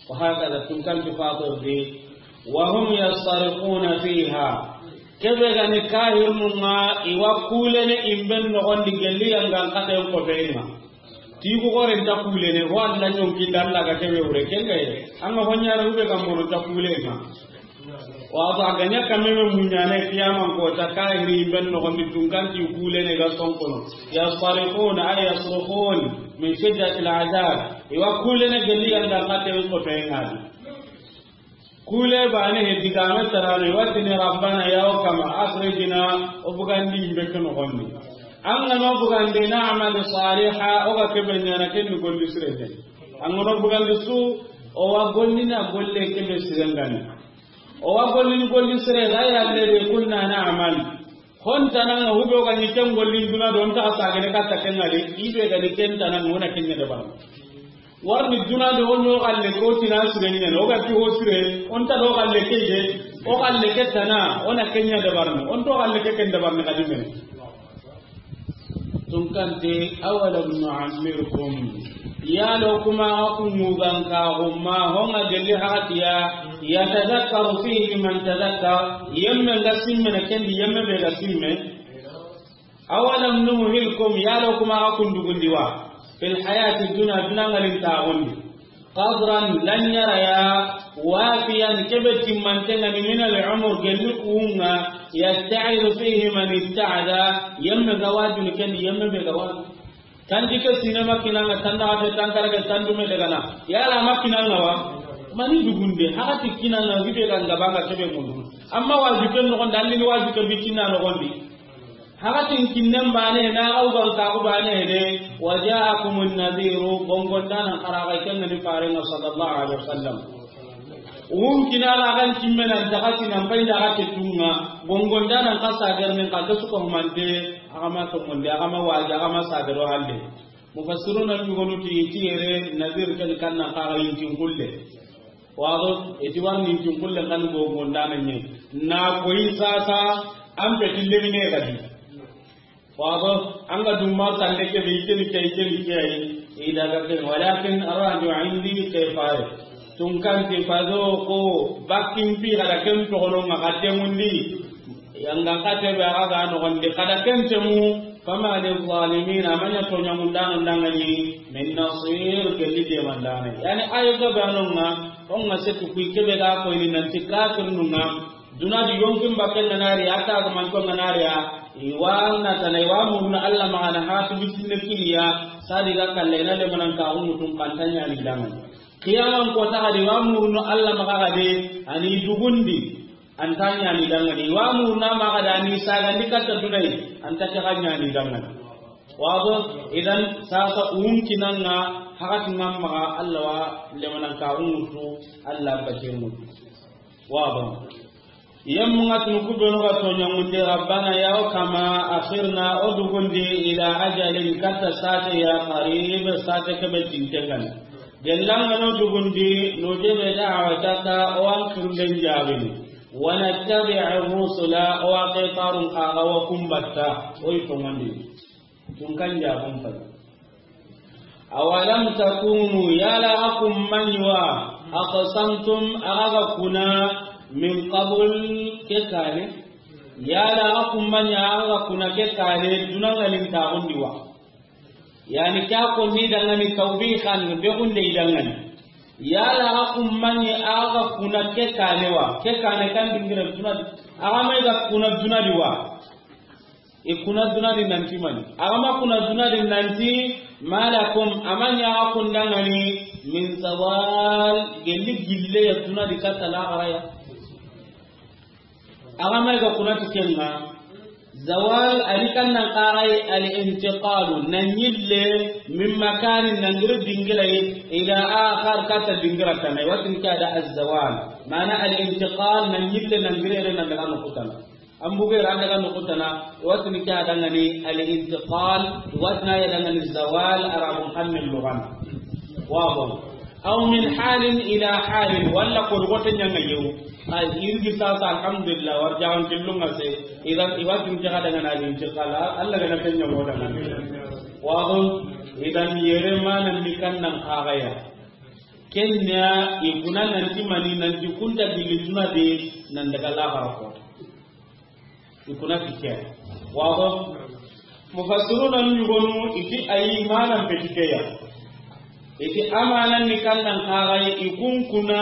Wa hakada, tunkanti fatirdi, wa hum yastarikuna fiha. Kebe gani kahirnun ŋa, i wa kulene imben nogondi gelli yangan katen kotenŋa. Ti ku gore nta kulene, ho Alla ñonkinda Alla ga kebe wure, kenga ye. An ga ho ñana ube ga mono nta kulenŋa. Wa ba ga ña kameme muñana kiyaman kota kahiri ben nogondi tunkanti kulene ga sonkono. Yastarikuna ay yasrukun min shiddati al-azab. I wa kulene gelli yangan katen kotenŋa. Kule bane he digame tarano, i wa tini Rabbana ya o kama, akhrijna, o bugandi imbe ke nogondi. An ga no bugandi na'mal saliha, o ga kebe ñana ken ni golli sire ñani. An ga no bugandi su, o wa golli na golle kebe sire ngani. O wa golli ni golli sire, ghayra alladhi kunna na'mal. Ho ntananŋa hube o ga ni ken gollin duna do, o nta sagene katta kenŋa de, ibe ga ni ken ntananŋa, o na ken ña dabarni. Warni duna do, o ño galle ko tina sire ñani, o ga ti ho sire, o nta do galle ke de, o galle ke tana, o na ken ña dabarni, o nto galle ke ken dabarni kadi men. Tunkanti, awalam nu'ammirkum. Yalo kuma aku mugan ka gumma, honga gelli hatiya, yatadhakkaru fihi man tadhakkar, yemme ga simme na kendi, yemme be ga simme. Awalam nuhilkum, yalo kuma aku ndugundi wa. Fil hayati dunya, duna ngalin tagundi. Qadran, lanyara ya, wafiyan, kebe timmantenga ni min al-umur, gelli kuunga, yatta'idu fihi man itta'ada, yemme ga wajunu kendi, yemme be ga waju. Tanji ke sinema kinanga, tanda ate tankara ke tandume dagana. Yala ma kinanga wa? Mani dugunde, hakati kinanga, hibe ga ngabanga kebe mundu. Amma waju ken nogondi, allini waju ke bitinna nogondi. Hakatin kinnen bane na au gan kaku bane de, wa ja'akumun nadhiru, gongondanan karaga kenga ni farenga sallallahu alaihi wasallam. Wun kinala gan kimmena dagati nan pai dagati tunga, gongondanan kasa garnin ka kesu ko humante, agama to monde, agama waja, agama sagaro halle. Mufassiruna yugonu ti, ti yere nadhir ken kannan kaga yinkin kulle. Wado, iti warni yinkin kulle kan go gondana nye. Na koyi sasa, an pe tille mine gadi. Wado, an ga dumma sande ke be ikeni ke, ikeni ke ayi. Ida ga ken, walakin arraju indi ke faye. Tunkanti fadhuqu, bakin pi kada ken togono nga katemundi. Yanga kate be aga ga nogondi, kada ken temu. Fama lizzalimina, a ma ña toñamundano ndangani, min nasir, gelli demandane. Yani, ayo gabe anonga, onga setu kui kebe ga koyni nanti kafirnunga, duna di yonkin bakken nganari, ata ga manko nganari ya, iwa na tana, iwa muruna Alla magana hatu bisinne kiliya, sadi ga kalle na le manan ka umutun kantanya ni dangani. Kiyaman ko ta ga di, iwa muruna Alla magana de, ani dugundi. Anta ñani dangani, wa murna maxa da ni sagandi katta dunai, anta ke xa ñani dangani. Wabo, idan sasa unkinanga, hakati ngamma Allah wa lemanan ka ungutu, Allah bake mutu. Wabo. Yamma tun kubenu ga toña munde, Rabbana ya o kama, akhirna, o dugundi, ila ajalin, katta sate ya qarib, sate kebe tintengani. Gellanga no dugundi, nujibu da'wataka, o an kirlen jabini. Wa nattabi'ir rusula, o a ke farun kaga wa kumbatta, o yi tongandi. Tun kan jabun fay. Awalam takunu, yala akum manwa, aqsamtum, aga kuna, min qabl, ke kane. Yala akum manya aga kuna ke kane, dunangalin tagundi wa. Yani, kya ko ni dangani tawbihan, be gunde i dangani. Yala, a kummani, aga kuna ke kane wa, ke kane kan dingira duna, aga mai ga kuna duna di wa. E kuna duna di nanti mani. Aga ma kuna duna di nanti, malakum, amanya aga kun dangani, min zawal, gelli gille ya duna di katta la garaya. Aga mai ga kuna ti kenga, zawal, ali kan nan kagai al intiqalu, nan yille, min makanin, nan giri dingira yi, ila akhar, katta dingira tana, watin kada az zawal. Mana al intiqal, nan yille, nan giri re, nan daga nukutana. An buge ran daga nukutana, watin kada ngani al intiqal, watin ya dangani zawal, arabun hannun lugan. Wabo. Aw min halin ila halin, wala ko gote nyanga yewu. Ay, irgi sasa, alhamdulillah, war jawan killunga se. Idan, iwatin jaga daga na linti kala, Allah gana kenya mo daga. Wado, idan yere manan ni kannan kagaya. Kenya, ikuna nanti mani, nanti kunta gilli duna de, nan daga laxara ko. Ikuna tikke. Wado, mufassiruna ni yugonu, iti ayi manan petikeya. Iti amanan ni kannan kagaye, ikun kuna,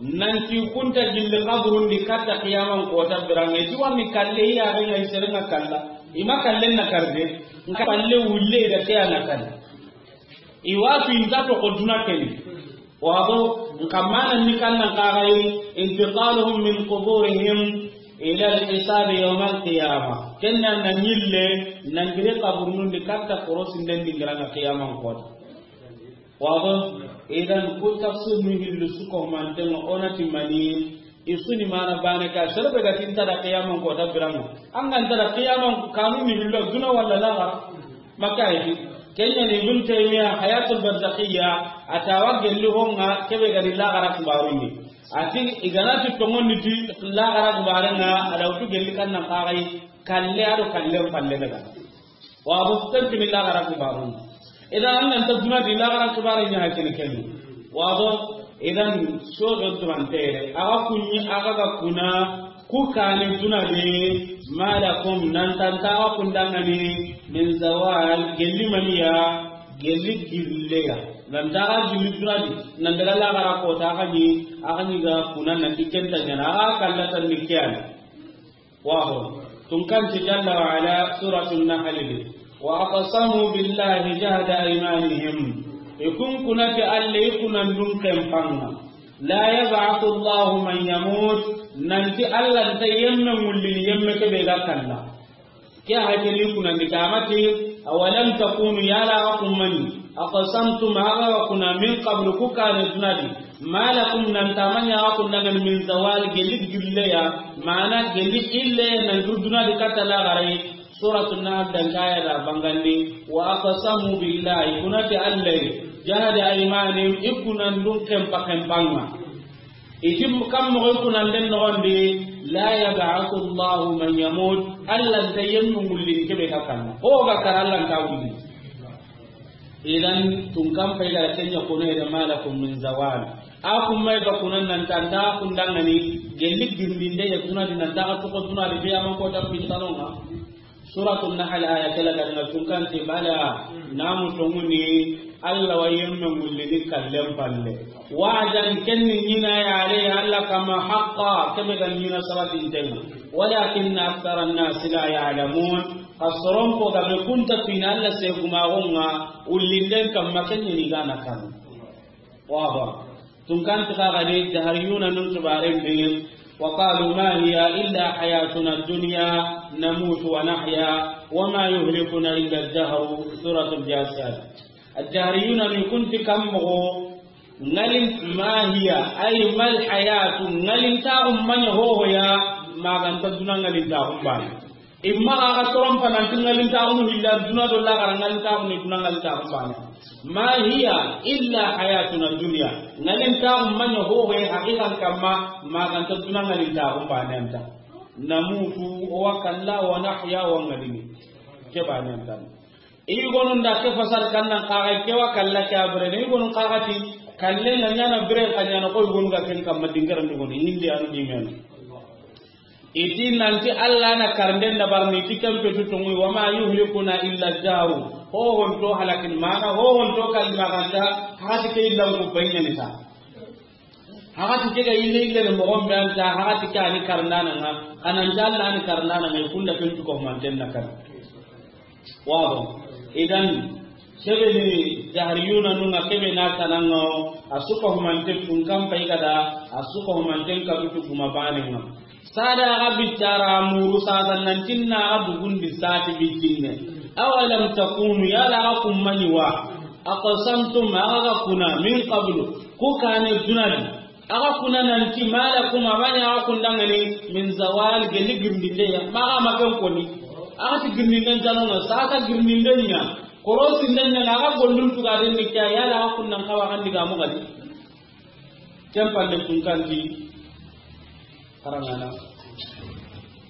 nanti kunta gilli kaburun di katta qiyaman kota birange. Iti wani kalle iya renga iserenga kalla. Ima kallen na karde, nka kalle wulle da keya na kalle. Iwa fi inta to ko duna keni. Wado, nka manan ni kannan kagaye, intiqaluhum min quburihim ila al-hisabi yawm al-qiyamah. Kenna na nyille, nan gire kaburun di katta korosi nden di ngiranga qiyaman kota. Wado, idan ku tafsir ni hillu suko mantengo onati mani, isuni mana bane ka, sharbe ga tinta da qiyaman kota birango. An ga nta da qiyaman kanun ni hillu duna wala laga. Maka yi. Kenya ni Ibn Taymiya Hayatul Barzakhiyya, atawa gelli honga kebe gari laxara kibarun ni. Ati iganati tongon ni ti laxara kibarenga, adawtu gelli kannan kagaye, kalle ado kallen palle daga. Wado, tanti ni laxara kibarun. Idan an ga nta duna di laxara kibare nya hakene kenu. Wado, idan sodo turantere. Aga kunyi, aga ga kuna, ku kane duna de, ma lakum, nan tanta aga kundangani, min zawal, gelli maniya, gelli gilleya. Nan taga gilli duna di, nan daga laxara kota, aga ni, aga ni ga kuna nanti kenta nyana, aga kallatan ni kiyana. Waho. Tunkanti Jalla wa Ala, Suratul Nahl di. Wa aqsamu billahi jahda aymanihim. Ikun kunati Alla ikunan dun kempanga. La yab'athu Allahu man yamut. Nanti Alla nta yemme mullini yemme kebe ga kalla. Ke hakili kunandi kamati, awalam takunu, yala aga kummani, aqsamtum, aga kuna, min qablu, ku kane dunadi, ma lakum, nan tamanya aga kunnangani, min zawal, geli gilleya, mana geli illeya nan dur dunadi katta laxaray. Suratu Nahl dan kaya da bangandi, wa aqsamu billahi, kunati Allahi, jahada aymanihim, ikunan dun kempa kempanga. Iti kam moxo kunanden noxondi, la yab'athu Allahu man yamut, Alla nta yemmu mullini kebe ga kanna. Ho ga kara Alla nta wulli. Idan tunkan pay ga kenya kono ede ma lakum min zawal. A kun may ga kunan nan tanta kundangani, gelli girminde ya tunadi nan ta ga toko tunadi be aman ko ta pintanonga. Suratul Nahl aya kela ga na tunkanti bala namu tonguni Alla wa yemme mullini kallen palle. Wa'dan, kenni ɲina ya alayhi Alla kama haqqa, kebe ga ɲina sabatintenga. Walakinna akthara an-nasi la ya'lamun. Kasron ko ga be kunta fina Alla se kuma gonga ullinden kamma kenni ni gana kan. Waba. Tunkanti xa gadi jahariyuna nun tubaren be, wa qalu ma hiya illa hayatuna dunya namutu wa nahya wa ma yuhlikuna illa ad-dahru. Suratul Jasiyat. Al-jahariyuna ni kunti kam moxo, ngalin ma hiya, ay mal hayatu, ngalin ta ummanya hoho ya, maganta duna ngalin ta umbani. Imma ga ga toron pa nanti ngalintaaxunu hilla duna do laxara, ngalintaaxunu duna, ngalintaaxu bane. Ma hiya illa hayatuna dunya. Ngalintaaxu maɲa hohoye haqiqan kamma, maganta duna ngalintaaxu bane anta. Namutu, o wa kalla, wa nahya, wa ngalini. Ke bane anta. I gonu nda ke fasar kannan kaga ke wa kalla ke a bire. I gonu kaga ti kalle nga ɲana bire ka ɲana ko i gonu ga ken kamma dingaran di gonu. Indi anu dimenu. Iti nanti Allah na karnden da barni ti kempe tu tongu, wa ma yuhlikuna illa daru. Ho honto halakin mana, ho honto kalima ganta, hati ke illan ku bayyana ta. Hati ke ga ille ille ne mo gombe anta, hati ke ani karnana nga, ananta Allah ani karnana nga, kunda ken tu ko manten na kan. Wabo. Idan, kebe ni jahriyuna nunga kebe na tananga o, a suka humante tun kan pay gada, a suka humanten ka tutu kuma bane nga. Sada aga bicara muru sada nantinna aga dugundi sati bitinne. Awalam takunu, yala aga kummani wa. Aqsamtum, aga kuna, min qablu, ku kane dunadi. Aga kuna nanti malakum, amani aga kundangani, min zawal, geli girndinde ya. Maga maken koni. Aga ti girndinden tanonga, saka girndinden ɲa. Korosi nden ɲa, aga gollun tuga den ni kya, yala aga kunnan kawa kandi ga mo gadi. Ken pande kun kandi.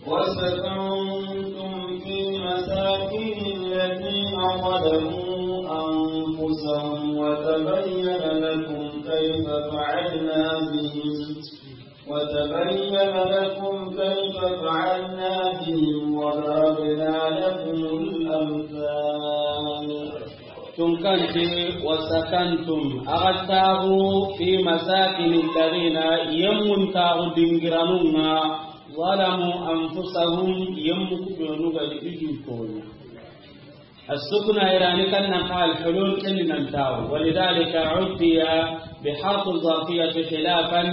وسكنتم في مساكن الذين ظلموا أنفسهم وتبين لكم كيف فعلنا بهم، وتبين لكم كيف فعلنا بهم وضربنا لكم الأمثال. Tunkanti, وسكنتم, axa taaxu, في مساكن الذين, yemmun taaxu dingiranun ŋa, ظلموا أنفسهم, yemmu ku benu ga di i du tooɲa. السكنى irani kannan xa الحلول, ken ni nan taaxu. ولذلك عدي بحرف الظرفية خلافا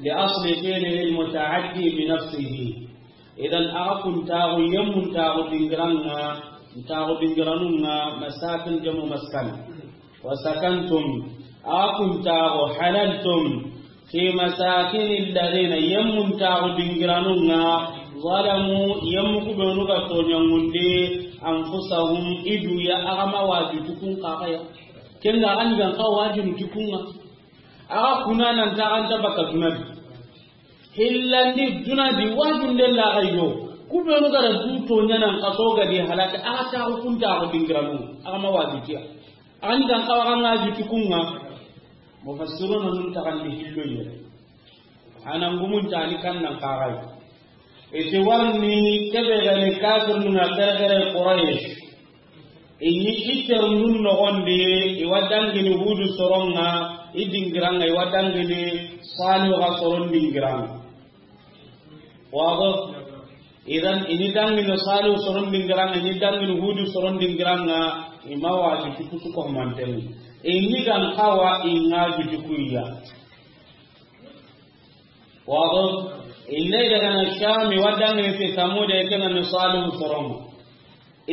لأصل فعله المتعدي بنفسه. Idan, axa kun taaxu, yemmun taaxu dingiran ŋa, taaxu dingiranun ŋa, مساكن جمع مسكن. وسكنتم, axa kun taaxu, حللتم في مساكن الذين, yemmun taaxu dingiranun ŋa, ظلموا, yemmu ku benu ga tooɲangundi, أنفسهم, i du ya, axa ma waju ti kun xa ya. Ken ga an gan xa waju ti kun ŋa. Axa kuna nan taaxu an ta baka duna di. Hillandi duna di wajunde la ga yo. Ku benu ga da du tooɲa nan xaso ga di halaka, axa taaxu kun taaxu dingiranu, axa ma waju ti ya. An gan xa wa ga waju ti kun ŋa. Mufassiruna nun taxandi hillo yere. Ana ngumun tani kannan xa ga yi. I ti warni kebe ga ni kafirnun ŋa, xerexere Quraysh. I ɲi i terundun noxon di, i wa dangini Hudu soron ŋa, i dingiran ŋa, i wa dangini Salihu ga soron dingiran ŋa. Wado? Idan, i ɲi dangini Salihu soron dingiran ŋa, i ɲi dangini Hudu soron dingiran ŋa, i ma waju ti kutu ko manten. I ɲi gan xa wa i ŋa waju ti ku ya. Wado? Inde daga na Sham, i wa dangini ti Samuda, i ke na ni Salihu soron ŋa.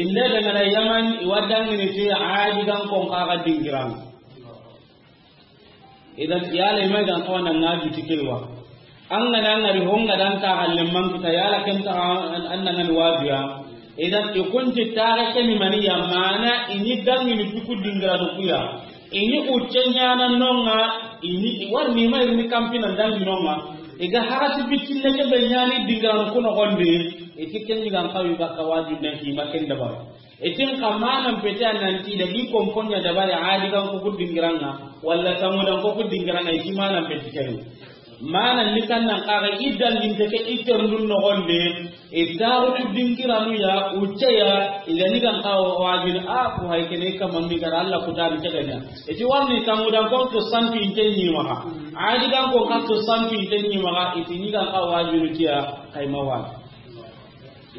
Inde daga na Yaman, i wa dangini ti Adi gan kon xa ga dingiran ŋa. Idan, yala i ma i gan xa wa na ŋa waju ti ke wa. An ga na ŋari ho ŋa dan ta halle man kita, yala ken ta an, an na ŋa ni waju ya. Idan, i kun ti taaxe ke ni mani ya, mana i ɲi dangini ti ku dingiranu ku ya. I ɲi ucce ɲaana no ŋa, i ɲi, i warni ma i ri ni kanpina dangi no ŋa. I ga hagati bitinne kebe ɲaani dingiranu ku noxon di, i ti ken ɲi gan xa wa i baka waju ne ki ma ken dabari. I ti n xa manan pete a nan ti da i konpon ɲa dabari Adi gan ku dingiran ŋa, wala Samudan ku dingiran ŋa, i ti manan pete ken. Mana ni kannan xa ga i danginte ke i terundun noxon di, i taaxu ku dingiranu ya, ucce ya, i ga ni gan xa wajini, a ku hay kene kama mi ga ra Alla ku tani ke ga ɲa. I ti warni Samudan kon ku santu inte ɲi maxa. Adi gan kon xa ku santu inte ɲi maxa, i ti ɲi gan xa wajini ti ya, xa i ma waju.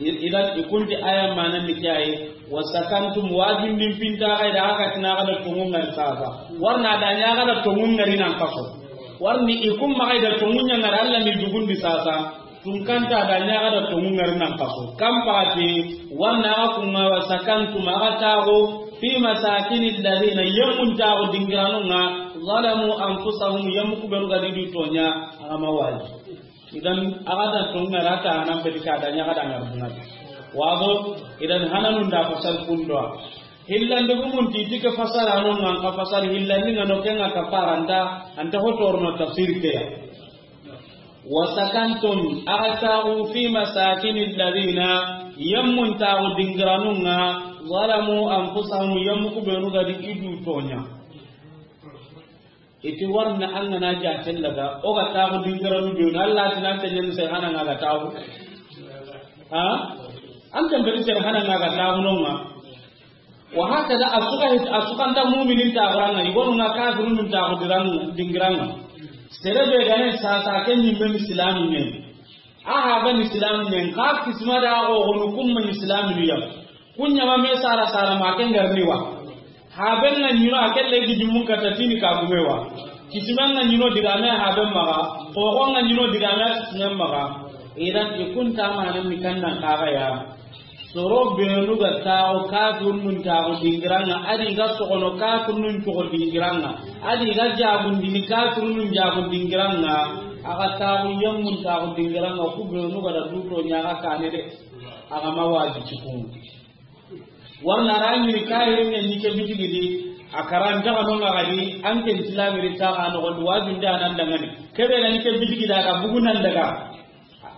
I-, idan, i kun ti aya manan ni ke yi, وسكنتم, wajundin pinta ga da, axa ti na ga da tonŋu ŋari sasa. Warna da ɲa ga da tonŋu ŋari nan xaso. Warni i kun ma ga da tonŋu ɲa ŋari Alla ni dugundi sasa. Tunkanta da ɲa ga da tonŋu ŋari nan xaso. Kan pati, warna axa kun ŋa وسكنتم, axa taaxu, في مساكن الذين, yemmun taaxu dingiranun ŋa, ظلموا أنفسهم, yemmu ku benu ga di du tooɲa, axa ma waju. Idan, axa da tonŋu ŋari ta hanan peti ka da ɲa ga da ŋari duna di. Wado? Idan, hananun da fasar kundo. Hillandi gumun ti ti ke fasara no ŋa, xa fasar hillandi ŋa no ke ŋa ka faranta, anta hotorno tafsir ke ya. وسكنتم, axa taaxu, في مساكن الذين, yemmun taaxu dingiranun ŋa, ظلموا أنفسهم, yemmu ku benu ga di i du tooɲa. I ti warna an ga na jaten daga, o ga taaxu dingiranu benu, Alla ti nan tenyen se hana ŋa ga taaxu. Ha? An ten beri se hana ŋa ga taaxu no ŋa. Wa hakada, a su ga, a su ga nta muminin taaxuran ŋa, i gonu ŋa kafirunun taaxu diran, dingiran ŋa. Sere be ga ne sasa ke ɲi men Islamu ɲen. A haben Islamu ɲen, xa kisima da o gonu kun ma Islamu ya. Kun ɲa ma me sara sara ma ken garni wa. Haben ŋa ɲi no a kelle gidi mun kata tini ka gume wa. Kisimen ŋa ɲi no digame haben maxa. Xoxon ŋa ɲi no digame kisimen maxa. Idan, i kun ta manan ni kannan xa ga ya. Soro benu ga taaxu kafirunun taaxu dingiran ŋa, a di ga soxono kafirunun coxo dingiran ŋa, a di ga jagundini kafirunun jagun dingiran ŋa, axa taaxu yemmun taaxu dingiran ŋa, ku benu ga da du tooɲa axa kane de, axa ma waju ti kun. Warna ra ɲi ni kahirin ɲa ni ke bitigi di, a karan daga no ŋa ga di, an ken tilamiri taaxu noxon di, wajunde a nan dangani. Kebe ga ni ke bitigi da ga bugu nan daga.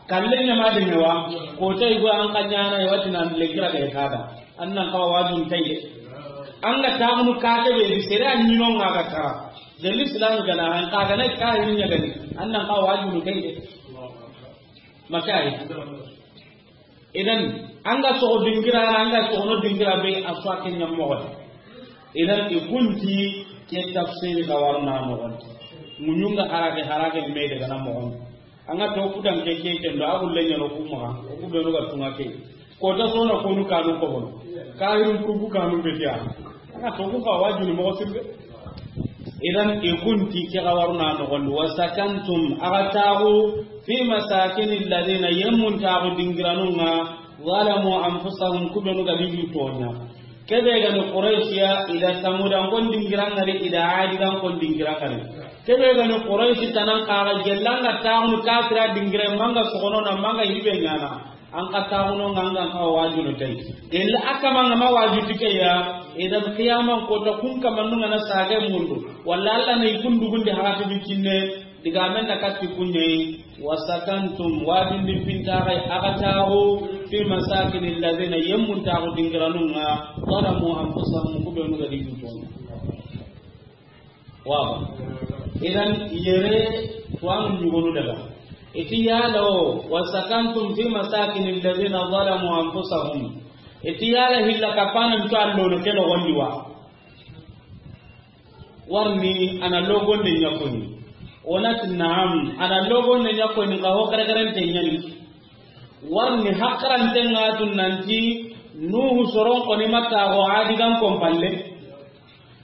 Kalle ɲama de ɲawa, ko tay go an ka ɲana e wati nan le kira ga kada. An nan ka wajun tay de. An ga taxunu ka ke be sere an ɲino nga ga tara. Del Islam gana an ka gana ka hin ɲa gani. An nan ka wajun tay de. Makari. Idan, an ga soxo dingira, an ga soxono dingira be a so a ke ɲa moxo. Idan, i kunti ke tafsiri ga warna moxo. Muɲunga harage, harage me daga na moxo. An ga to kudan ke, ke, ke ndo a gulle ɲano ku maxa, ku be no ga tunga ke. Ko ta sona ko nu kanu ko bono. Ka hiru ku ku kanu be tiya. An ga to ku ka wajuni moxo sirbe. Idan i kunti ke ga warna no gondi. Wa sakantum, a ga taxu, fi masakini alladhina, yemmun taxu dingiranunga, zalamu anfusahum, ku be nu ga di tonya. Ke be ga ni Quraysh ya, i da Samudan kon dingirangari, i da Adigan kon dingirangari. Ke be ga ni Quraysh tanan kaga gellanga taxunu kafira dingira manga soxono na manga hibe ɲana. An ka taxuno nga an ga ka wajunu tay. Gella a kama nga ma waju tike ya, idan qiyaman ko ta kun kama nunga na sage mundu. Walla Allah na i kundu gundi harati bi kinne, diga men na katti kunye, wa sakantum, wajun di pinta ga a ga taxu, fi masakini alladhina, yemmun taxu dingiranunga, zalamu anfusahum, ku be nu ga di juton. Waaw. Idan yere tuwanu ɲugonu daga. Iti yala o, wa sakantum fi masakini alladhina zalamu anfusahum. Iti yala hilla kapana nto allono ke nogondi wa. Warni ana logonde ɲakoni. Onati naam, ana logonde ɲakoni ka ho kare kare nte ɲani. Warni hakrante nga tun nanti Nuhu soron koni mata go Adigan kompalle.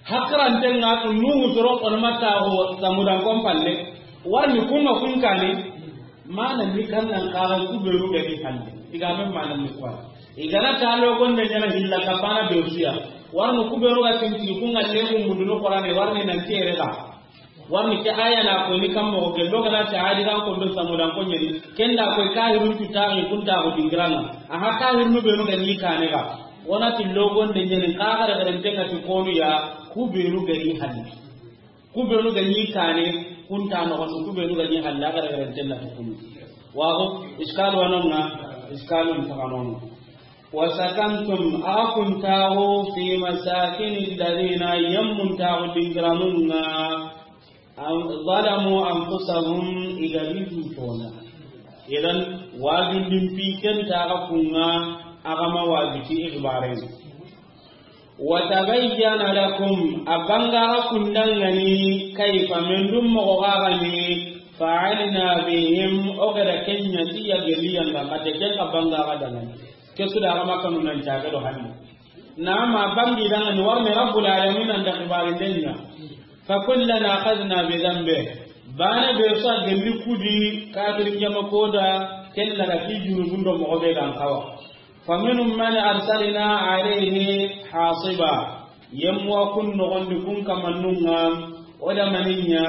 Hakrante nga tu Nuhu soron kono mata ho Samudan kompalle. Warni kunga kun kane. Mana ni kannan karan ku be ru ga di hande. Iga men mana ni kwa. Igana talo gonde ɲana hilla kapana be rusiya. Warni ku be ru ga tinti kunga lebu mudunu Qur'ane warni nan tere ga. Warni ke aya na ko ni kammo ke loga na ta Adigan ko do Samudan ko ɲeni. Kenda ko kahirun tu tari kun ta ko dingirana. Aha kahirun be ru ga ni kane ga. Wonati logonde ɲeni, ka xara xarante nga ti konu ya, ku benu ga ni halli. Ku benu ga ni kane, kunta no xon, ku benu ga ni halli, xara xarante na ti kunu. Waxo, iskalu wanonga, iskalu ntaxanonga. Wa sakantum, a kuntaxu, fi masakini alladhina, yemmun taxu dingiranunga, An-, zalamu anfusahum, i ga ri du tona. Idan, wajundin pi ken ta ga kunga, a ga ma wajuti ixbaren. Wa tabayyana lakum, a banga ga kundangani, kayfa, men dum moxo ga gani, fa'alna bihim, o ga da kenya ti ya geliyan ga kate ken ga banga ga dangani. Ke su da ga makanu nan jaga do hanni. Naam, a bangi dangani warne Rabbul Alamin an da xibari denya. Fa kullan akhadna bi dhanbi. Bana be sa gelli kudi kafir jama koda kella da ki junubun do moxo be gan kawa. Fa minhum man arsalna alayhi hasiba. Yemwa kun noxondi kun kamannunga, o da maninya,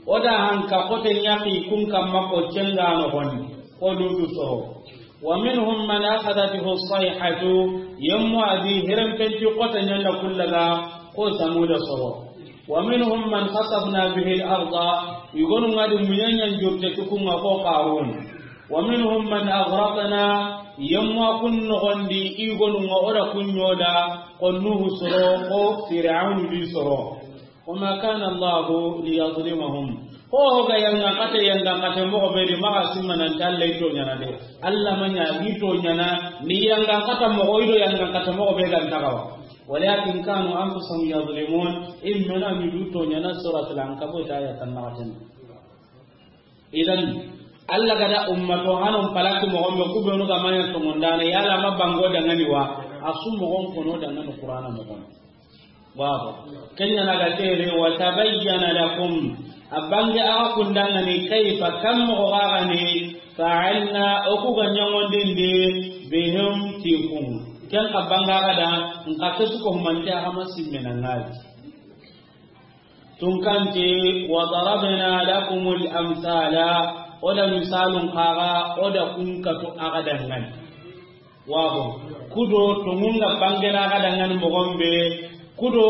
o da hanka xote ɲaxi kun kamma ko cenga noxondi, ko Lutu soro. Wa minhum man akhadathu as-sayhatu, yemmu adi hiren penti xota ɲanda kullaga, ko Samuda soro. Wa minhum man khasafna bihi al-arda, igonu ngadi munyanyan jurte tukunga ko Qarun. Wa minhum man aghraqna, yemmu kun noxondi igonu nga o da kunyoda, ko Nuhu soro, ko Fir'aunu di soro. Wa ma kana Allahu liyazlimahum. Ho ho ga yanga kate, yanga kate moxo be di maxa simma nan talle to ɲana de. Allah ma ɲa gi to ɲana ni yanga kata moxo ido yanga kata moxo be gan tagawa. Walakin kanu anfusahum yazlimun. Immena mi du to ɲana suratul Ankabut aya tan na tan. Idan, Allah ga da ummato hanon palaki moxon be ku benu ga manya to mondana yala ma bango dangani wa. Asu moxon kono dangani Qur'ana moxon. Baba. Kenya na ga tere wa tabayyana lakum. A bange a kundangani kayfa kam moxo ga gani fa'alna o ku ga ɲangondindi bihim ti kun. Ken ka banga ga da nka kesu ko humante a hama simmena ngadi. Tunkanti, wa darabna lakumul amsala, o da misalun kaga, o da kunkatu aga dangani. Wago, kudo tongunga bangena aga dangani mogombe, kudo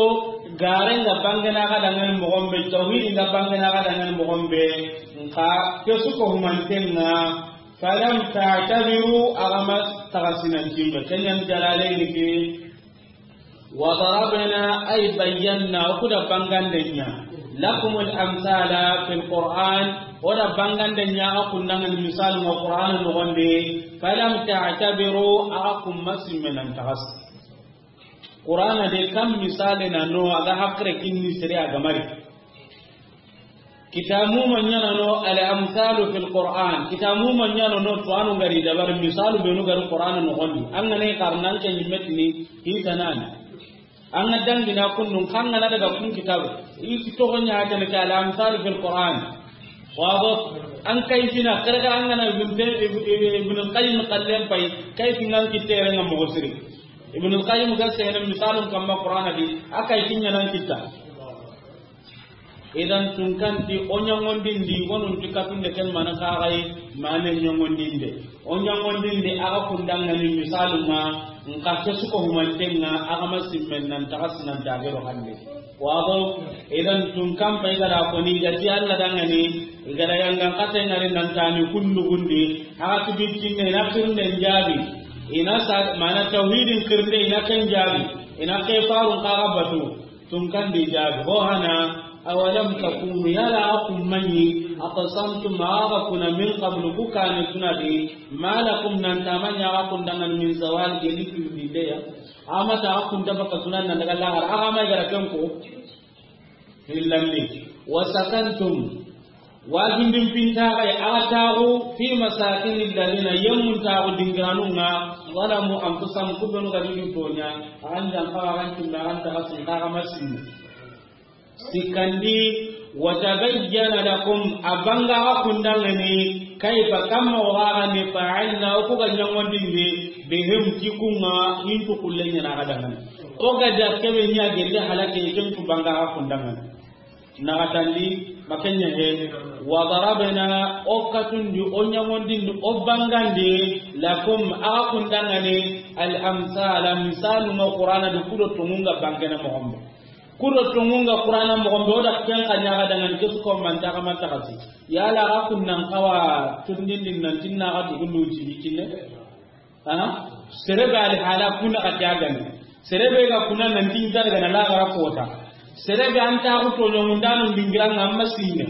garenga bangena aga dangani mogombe, tawhidinga bangena aga dangani mogombe, nka kesu ko humantenga, Falam ta'tabiru, a ga ma taxasinan timbe. Ken ɲa ni Jalaalayni ke. Wa darabna, ay bayyana, o ku da bangandenya. Lakumul amsala fil Qur'an, o da bangandenya, a ga kundangan misal ma Qur'an noxon di. Falam ta'tabiru, a ga kun ma simme nan taxasi. Qur'ana de kam misale na no, a ga hakkile kinni sere a ga mari. Kitabu ma ɲaana no, al amsalu fil Qur'an. Kitabu ma ɲaana no, to anu gari dabar misalu benu gari Qur'ana noxon di. An ga na i xarana an ke ɲi metini, i tanani. An ga dangina kunnun, kan ga na daga kun kitabu. I ti toxo ɲa hata ne ke al amsalu fil Qur'an. Wabo, an kayfina, kere ga an ga na Ibn Tay-, Ibn, Ibn Qayyim kallen pay, kayfi ngan kitte ren ŋa moxo siri. Ibn Qayyim ga sehene misalun kamma Qur'ana di, a kayfi ɲa nan kitta. Idan tunkanti o ɲaŋondindi, wonun ti katunde ken mana kaxay, mane ɲaŋondinde. O ɲaŋondindi, a ga kundangani misalu ma, nka ke suko humantenga, a ga ma simmen nan taxasi nan tagero hande. Wabo, idan tunkan pay ga da koni, i ga ti Allah dangani, i ga da yangan kate ngari nan tani kundugundi, a ga ti biccinne, i na xirnden jaabi, i na sa, mana tawhidin xirnde, i na ken jaabi, i na ke farun kaga batu. Tunkandi jaabi, ho hana, awalam takunu, yala a kun maɲi, aqsamtum, a ga kuna min qablu, ku kane tuna di, ma lakum, nan ta maɲi a ga kun dangan min zawal, geli kirdi de ya. A ma ta a kun da baka tuna nan daga laxara, a ga ma i ga ra ken ko. Hillandi, wa sakantum, wajundin pinta ga ya, a ga taxu, fi masakini alladhina, yemmun taxu dingiranun ŋa, zalamu anfusahum, ku benu ga di toɲa, a ga ndan kawa, a ga ntimbe, a ga ntaxasin, a ga ma sinni. Sikkandi, wa tabayyana lakum, a banga a ga kundangani, kayfa, kamma o ga ni fa'alna, o ku ga ɲaŋondindi, bihim, ti kun ŋa, hintu kullen ɲa na a ga dangani. O ga da kebe ɲa gelle halake, ken ku banga a ga kundangani. Naxatandi, ma ken ɲa he, wa darabna, o katundi, o ɲaŋondindi, o bangandi, lakum, a ga kundangani, al amsala, misalu ma Qur'ana di, ku do tonŋun ga bangene moxon be. Ku do tonŋun ga Qur'ana moxon be, o da ken xa ɲa ga dangani, ke su ko man taxa man taxasi. Yala a ga kun nan kawa tundindi nan tinna a ga dugundu ci biccinne. Ha? Sere be ali hala kuna ga jagani. Sere be ga kuna nan tin jar ga na laxara kota. Sere be an ta ku toɲoŋundanun dingiran ŋa, a ma simme.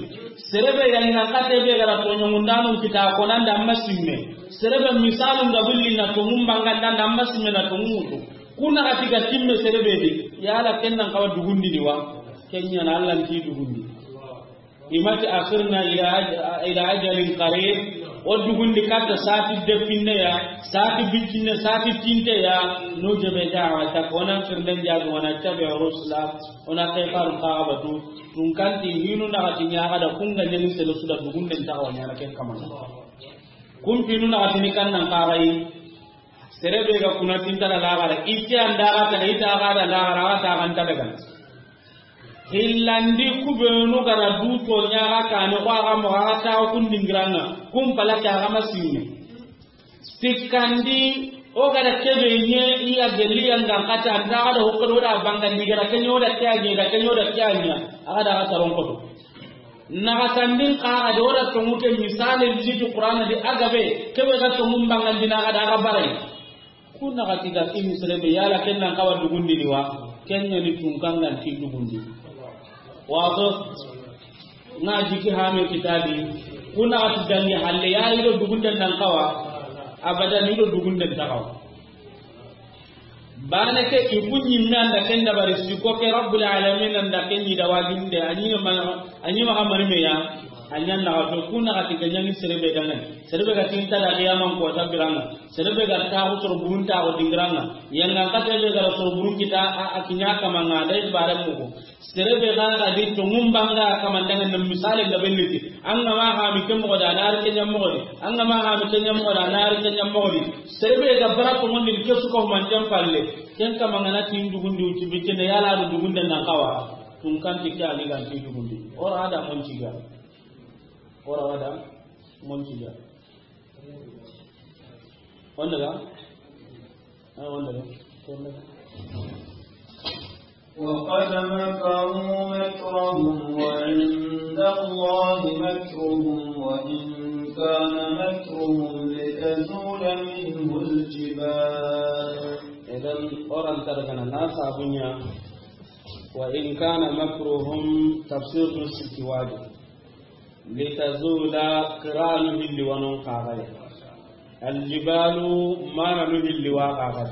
Sere be yan nan kate be ga ra toɲoŋundanun kita ko nan da, a ma simme. Sere be misalun ga bulli na tonŋun banganda, a ma simme na tonŋun wutu. Kuna ga ti ga timme sere be di. Yala ken nan kawa dugundi ni wa? Ken ɲa na Allah nti dugundi. I ma ti akhirna ila aj-, ila ajalin qarib. O dugundi katta sati depinne ya, sati biccinne, sati tinte ya. Nujibu da'watak, o na xirnden jaabi, wa nattabi'u rusula, o na ke faru kaga batu. Tunkanti hinu naxati ɲa ga da kun ga ɲani sele su da dugunden taxawa ɲana ken kamana. Kun hinu naxati ni kan nan kaxayi. Sere be ga kuna tinta da laxara, i ti an da ga ta, i ta ga da laxara, a ga ta ga nta daga. Hillandi, ku benu ga ra du toɲa ga kane, ko a ga mo ga ta kun dingiran ŋa, kun palake a ga ma simme. Sikkandi, o ga da kebe ɲe, i ya geli ya nga kata, an da ga da hokko da bangandi, ga da ken ɲa o da ke ɲa, da ken ɲa o da ke ɲa, a ga da ga taron koto. Naxatandin xa ga da o da tonŋu ke misale liti Qur'ana di a ga be, kebe ga tonŋun bangandi na ga da ga baray. Ku naxati ga ini sere be, yala ken nan kawa dugundi ni wa? Ken ɲa ni tunkan ga nti dugundi. Wato, na jiki hame kitabi. Ku naxati dangi halle ya, i do dugunden nan kawa. Abadan, i do dugunden ta kawa. Bane ke i ku ɲimme an da ken dabari, siko ke Rabbul Alamin an da ken ɲi da wajinde, a ɲi ma, a ɲi ma xa mari me ya. A ɲa na ga to, ku naxati ga ɲani sere be dangani. Sere be ga tinta da qiyaman ko ta biran ŋa. Sere be ga taxu soro burun taxu dingiran ŋa. Yanga kate be ga ra soro burun kita a, a kiɲa kamanga da i bare mugo. Sere be ga ga di tonŋun banga kamandanga na misale ga belliti. An ga ma hami ke moxo da, a na ri ke ɲa moxo di. An ga ma hami ke ɲa moxo da, a na ri ke ɲa moxo di. Sere be ga bara tonŋundi ke su ko man jam palle. Ken kamanga na tin dugundi uti be ken yala do dugunde nan kawa. Tunkanti ke ali ga nti dugundi. O ra da mon ciga. O ra da mon ciga. Wanda ga? Ah, wanda ga? وقد مكروا مكرهم وعند الله مكرهم وإن كان مكرهم لتزول منه الجبال. Idan, o ran targana na sabunya. وإن كان مكرهم تفسير نسك واجب. لتزول قران اللي ونون قاغي. الجبال ما ننهي اللي واقعي.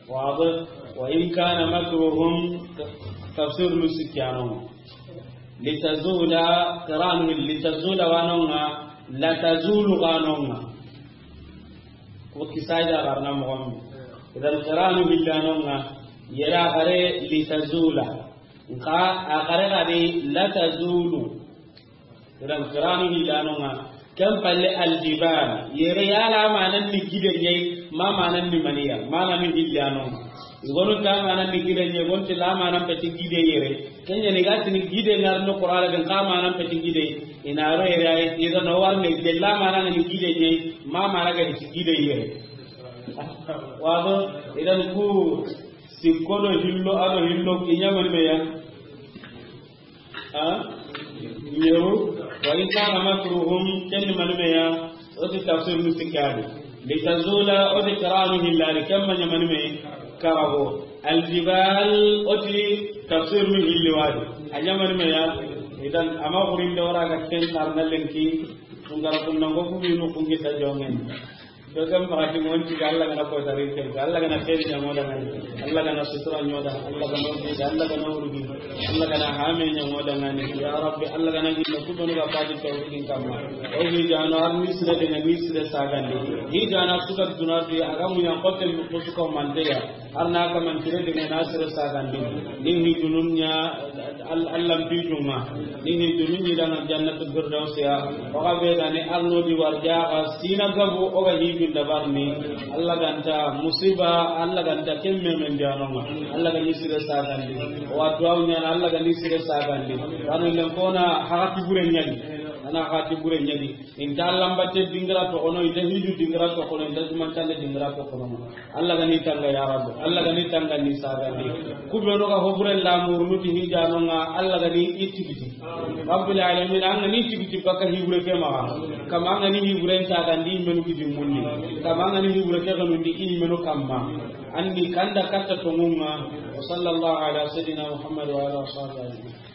واضح؟ وإن كان مكرهم تفسير نسك يانون. Litazula, qiranu litazula wa no ŋa, latazulu ga no ŋa. Ko kisaya ga na mo. Idan qiranu hilla no ŋa, yera gare litazula. Nka a gare ga di latazulu. Idan qiranu hilla no ŋa. Ken palle aljibal, yere yala manan ni gide ɲa yi, ma manan ni mani ya, manan ni hilla no. I gonu ta manan ni gide ɲa yi, gonti la manan peti gide yere. Ken ɲa ni ga tini gide ŋa ri no Qur'ana den ka manan peti gide. I na ro yere ay, idan no war ne de la manan ni gide ɲa yi, ma manan ga ti gide yere. Wado, idan ku sikko do hillo, ado hillo, i ɲa mani me ya. Ha? Yeru, wa in kana makruhum, ken ni mani me ya, o ti tafsir nu sikka ni. Litazula, o ti qiranu hilla ni, ken ma ɲa mani me, karago. Aljibal, o ti tafsir nu hilli wa di. A ɲa mani me ya, idan a ma xurin da wara ga ken karna lenki, tungara kunna ngo ku bi nu kungi ta jongen. Dogan bakati ngonti ga Allah gana ko tari ke, Allah gana xeeri ɲa ŋo da ŋa ni, Allah gana sutura ɲa ŋo da, Allah gana o bi, Allah gana o rugi, Allah gana hame ɲa ŋo da ŋa ni. Ya Rabbi, Allah gana gillo ku benu ga fadi tawhidin kamma. O hi jano ar ni sire de ŋa ni sire sagandi. Hi jana suka duna fi aga munya kotel ko suka mante ya. Arna ka man tire de ŋa na sire sagandi. Ni hi dunun ɲa Al-, Allah bi juma. Ni hi dunu ni danga jannatu firdaus ya. Waga be ga ni arno di warja ga sina gabu o ga hi bin dabar ni. Allah ganta musiba, Allah ganta kemme men jano ma. Allah ga ni sire sagandi. Wa duwa ɲa Allah ga ni sire sagandi. Kanu len kona hagati bure ɲani. Ana hagati bure ɲani. Inta Allah mbatte dingira to kono, inta hiju dingira to kono, inta jumantande dingira to kono. Allah ga ni tanga ya Rabbi, Allah ga ni tanga ni sagandi. Ku benu ga hobure la murunu ti hijano ŋa, Allah ga ni i tigiti. Rabbil alamin, an ga ni tigiti baka hibure ke ma. Kama an ga ni hibure sagandi menu gidi munni. Kama an ga ni hibure ke ganundi i menu kamma. Anni kanda katta tongunga. Wa sallallahu ala sayyidina Muhammad wa ala sahbihi.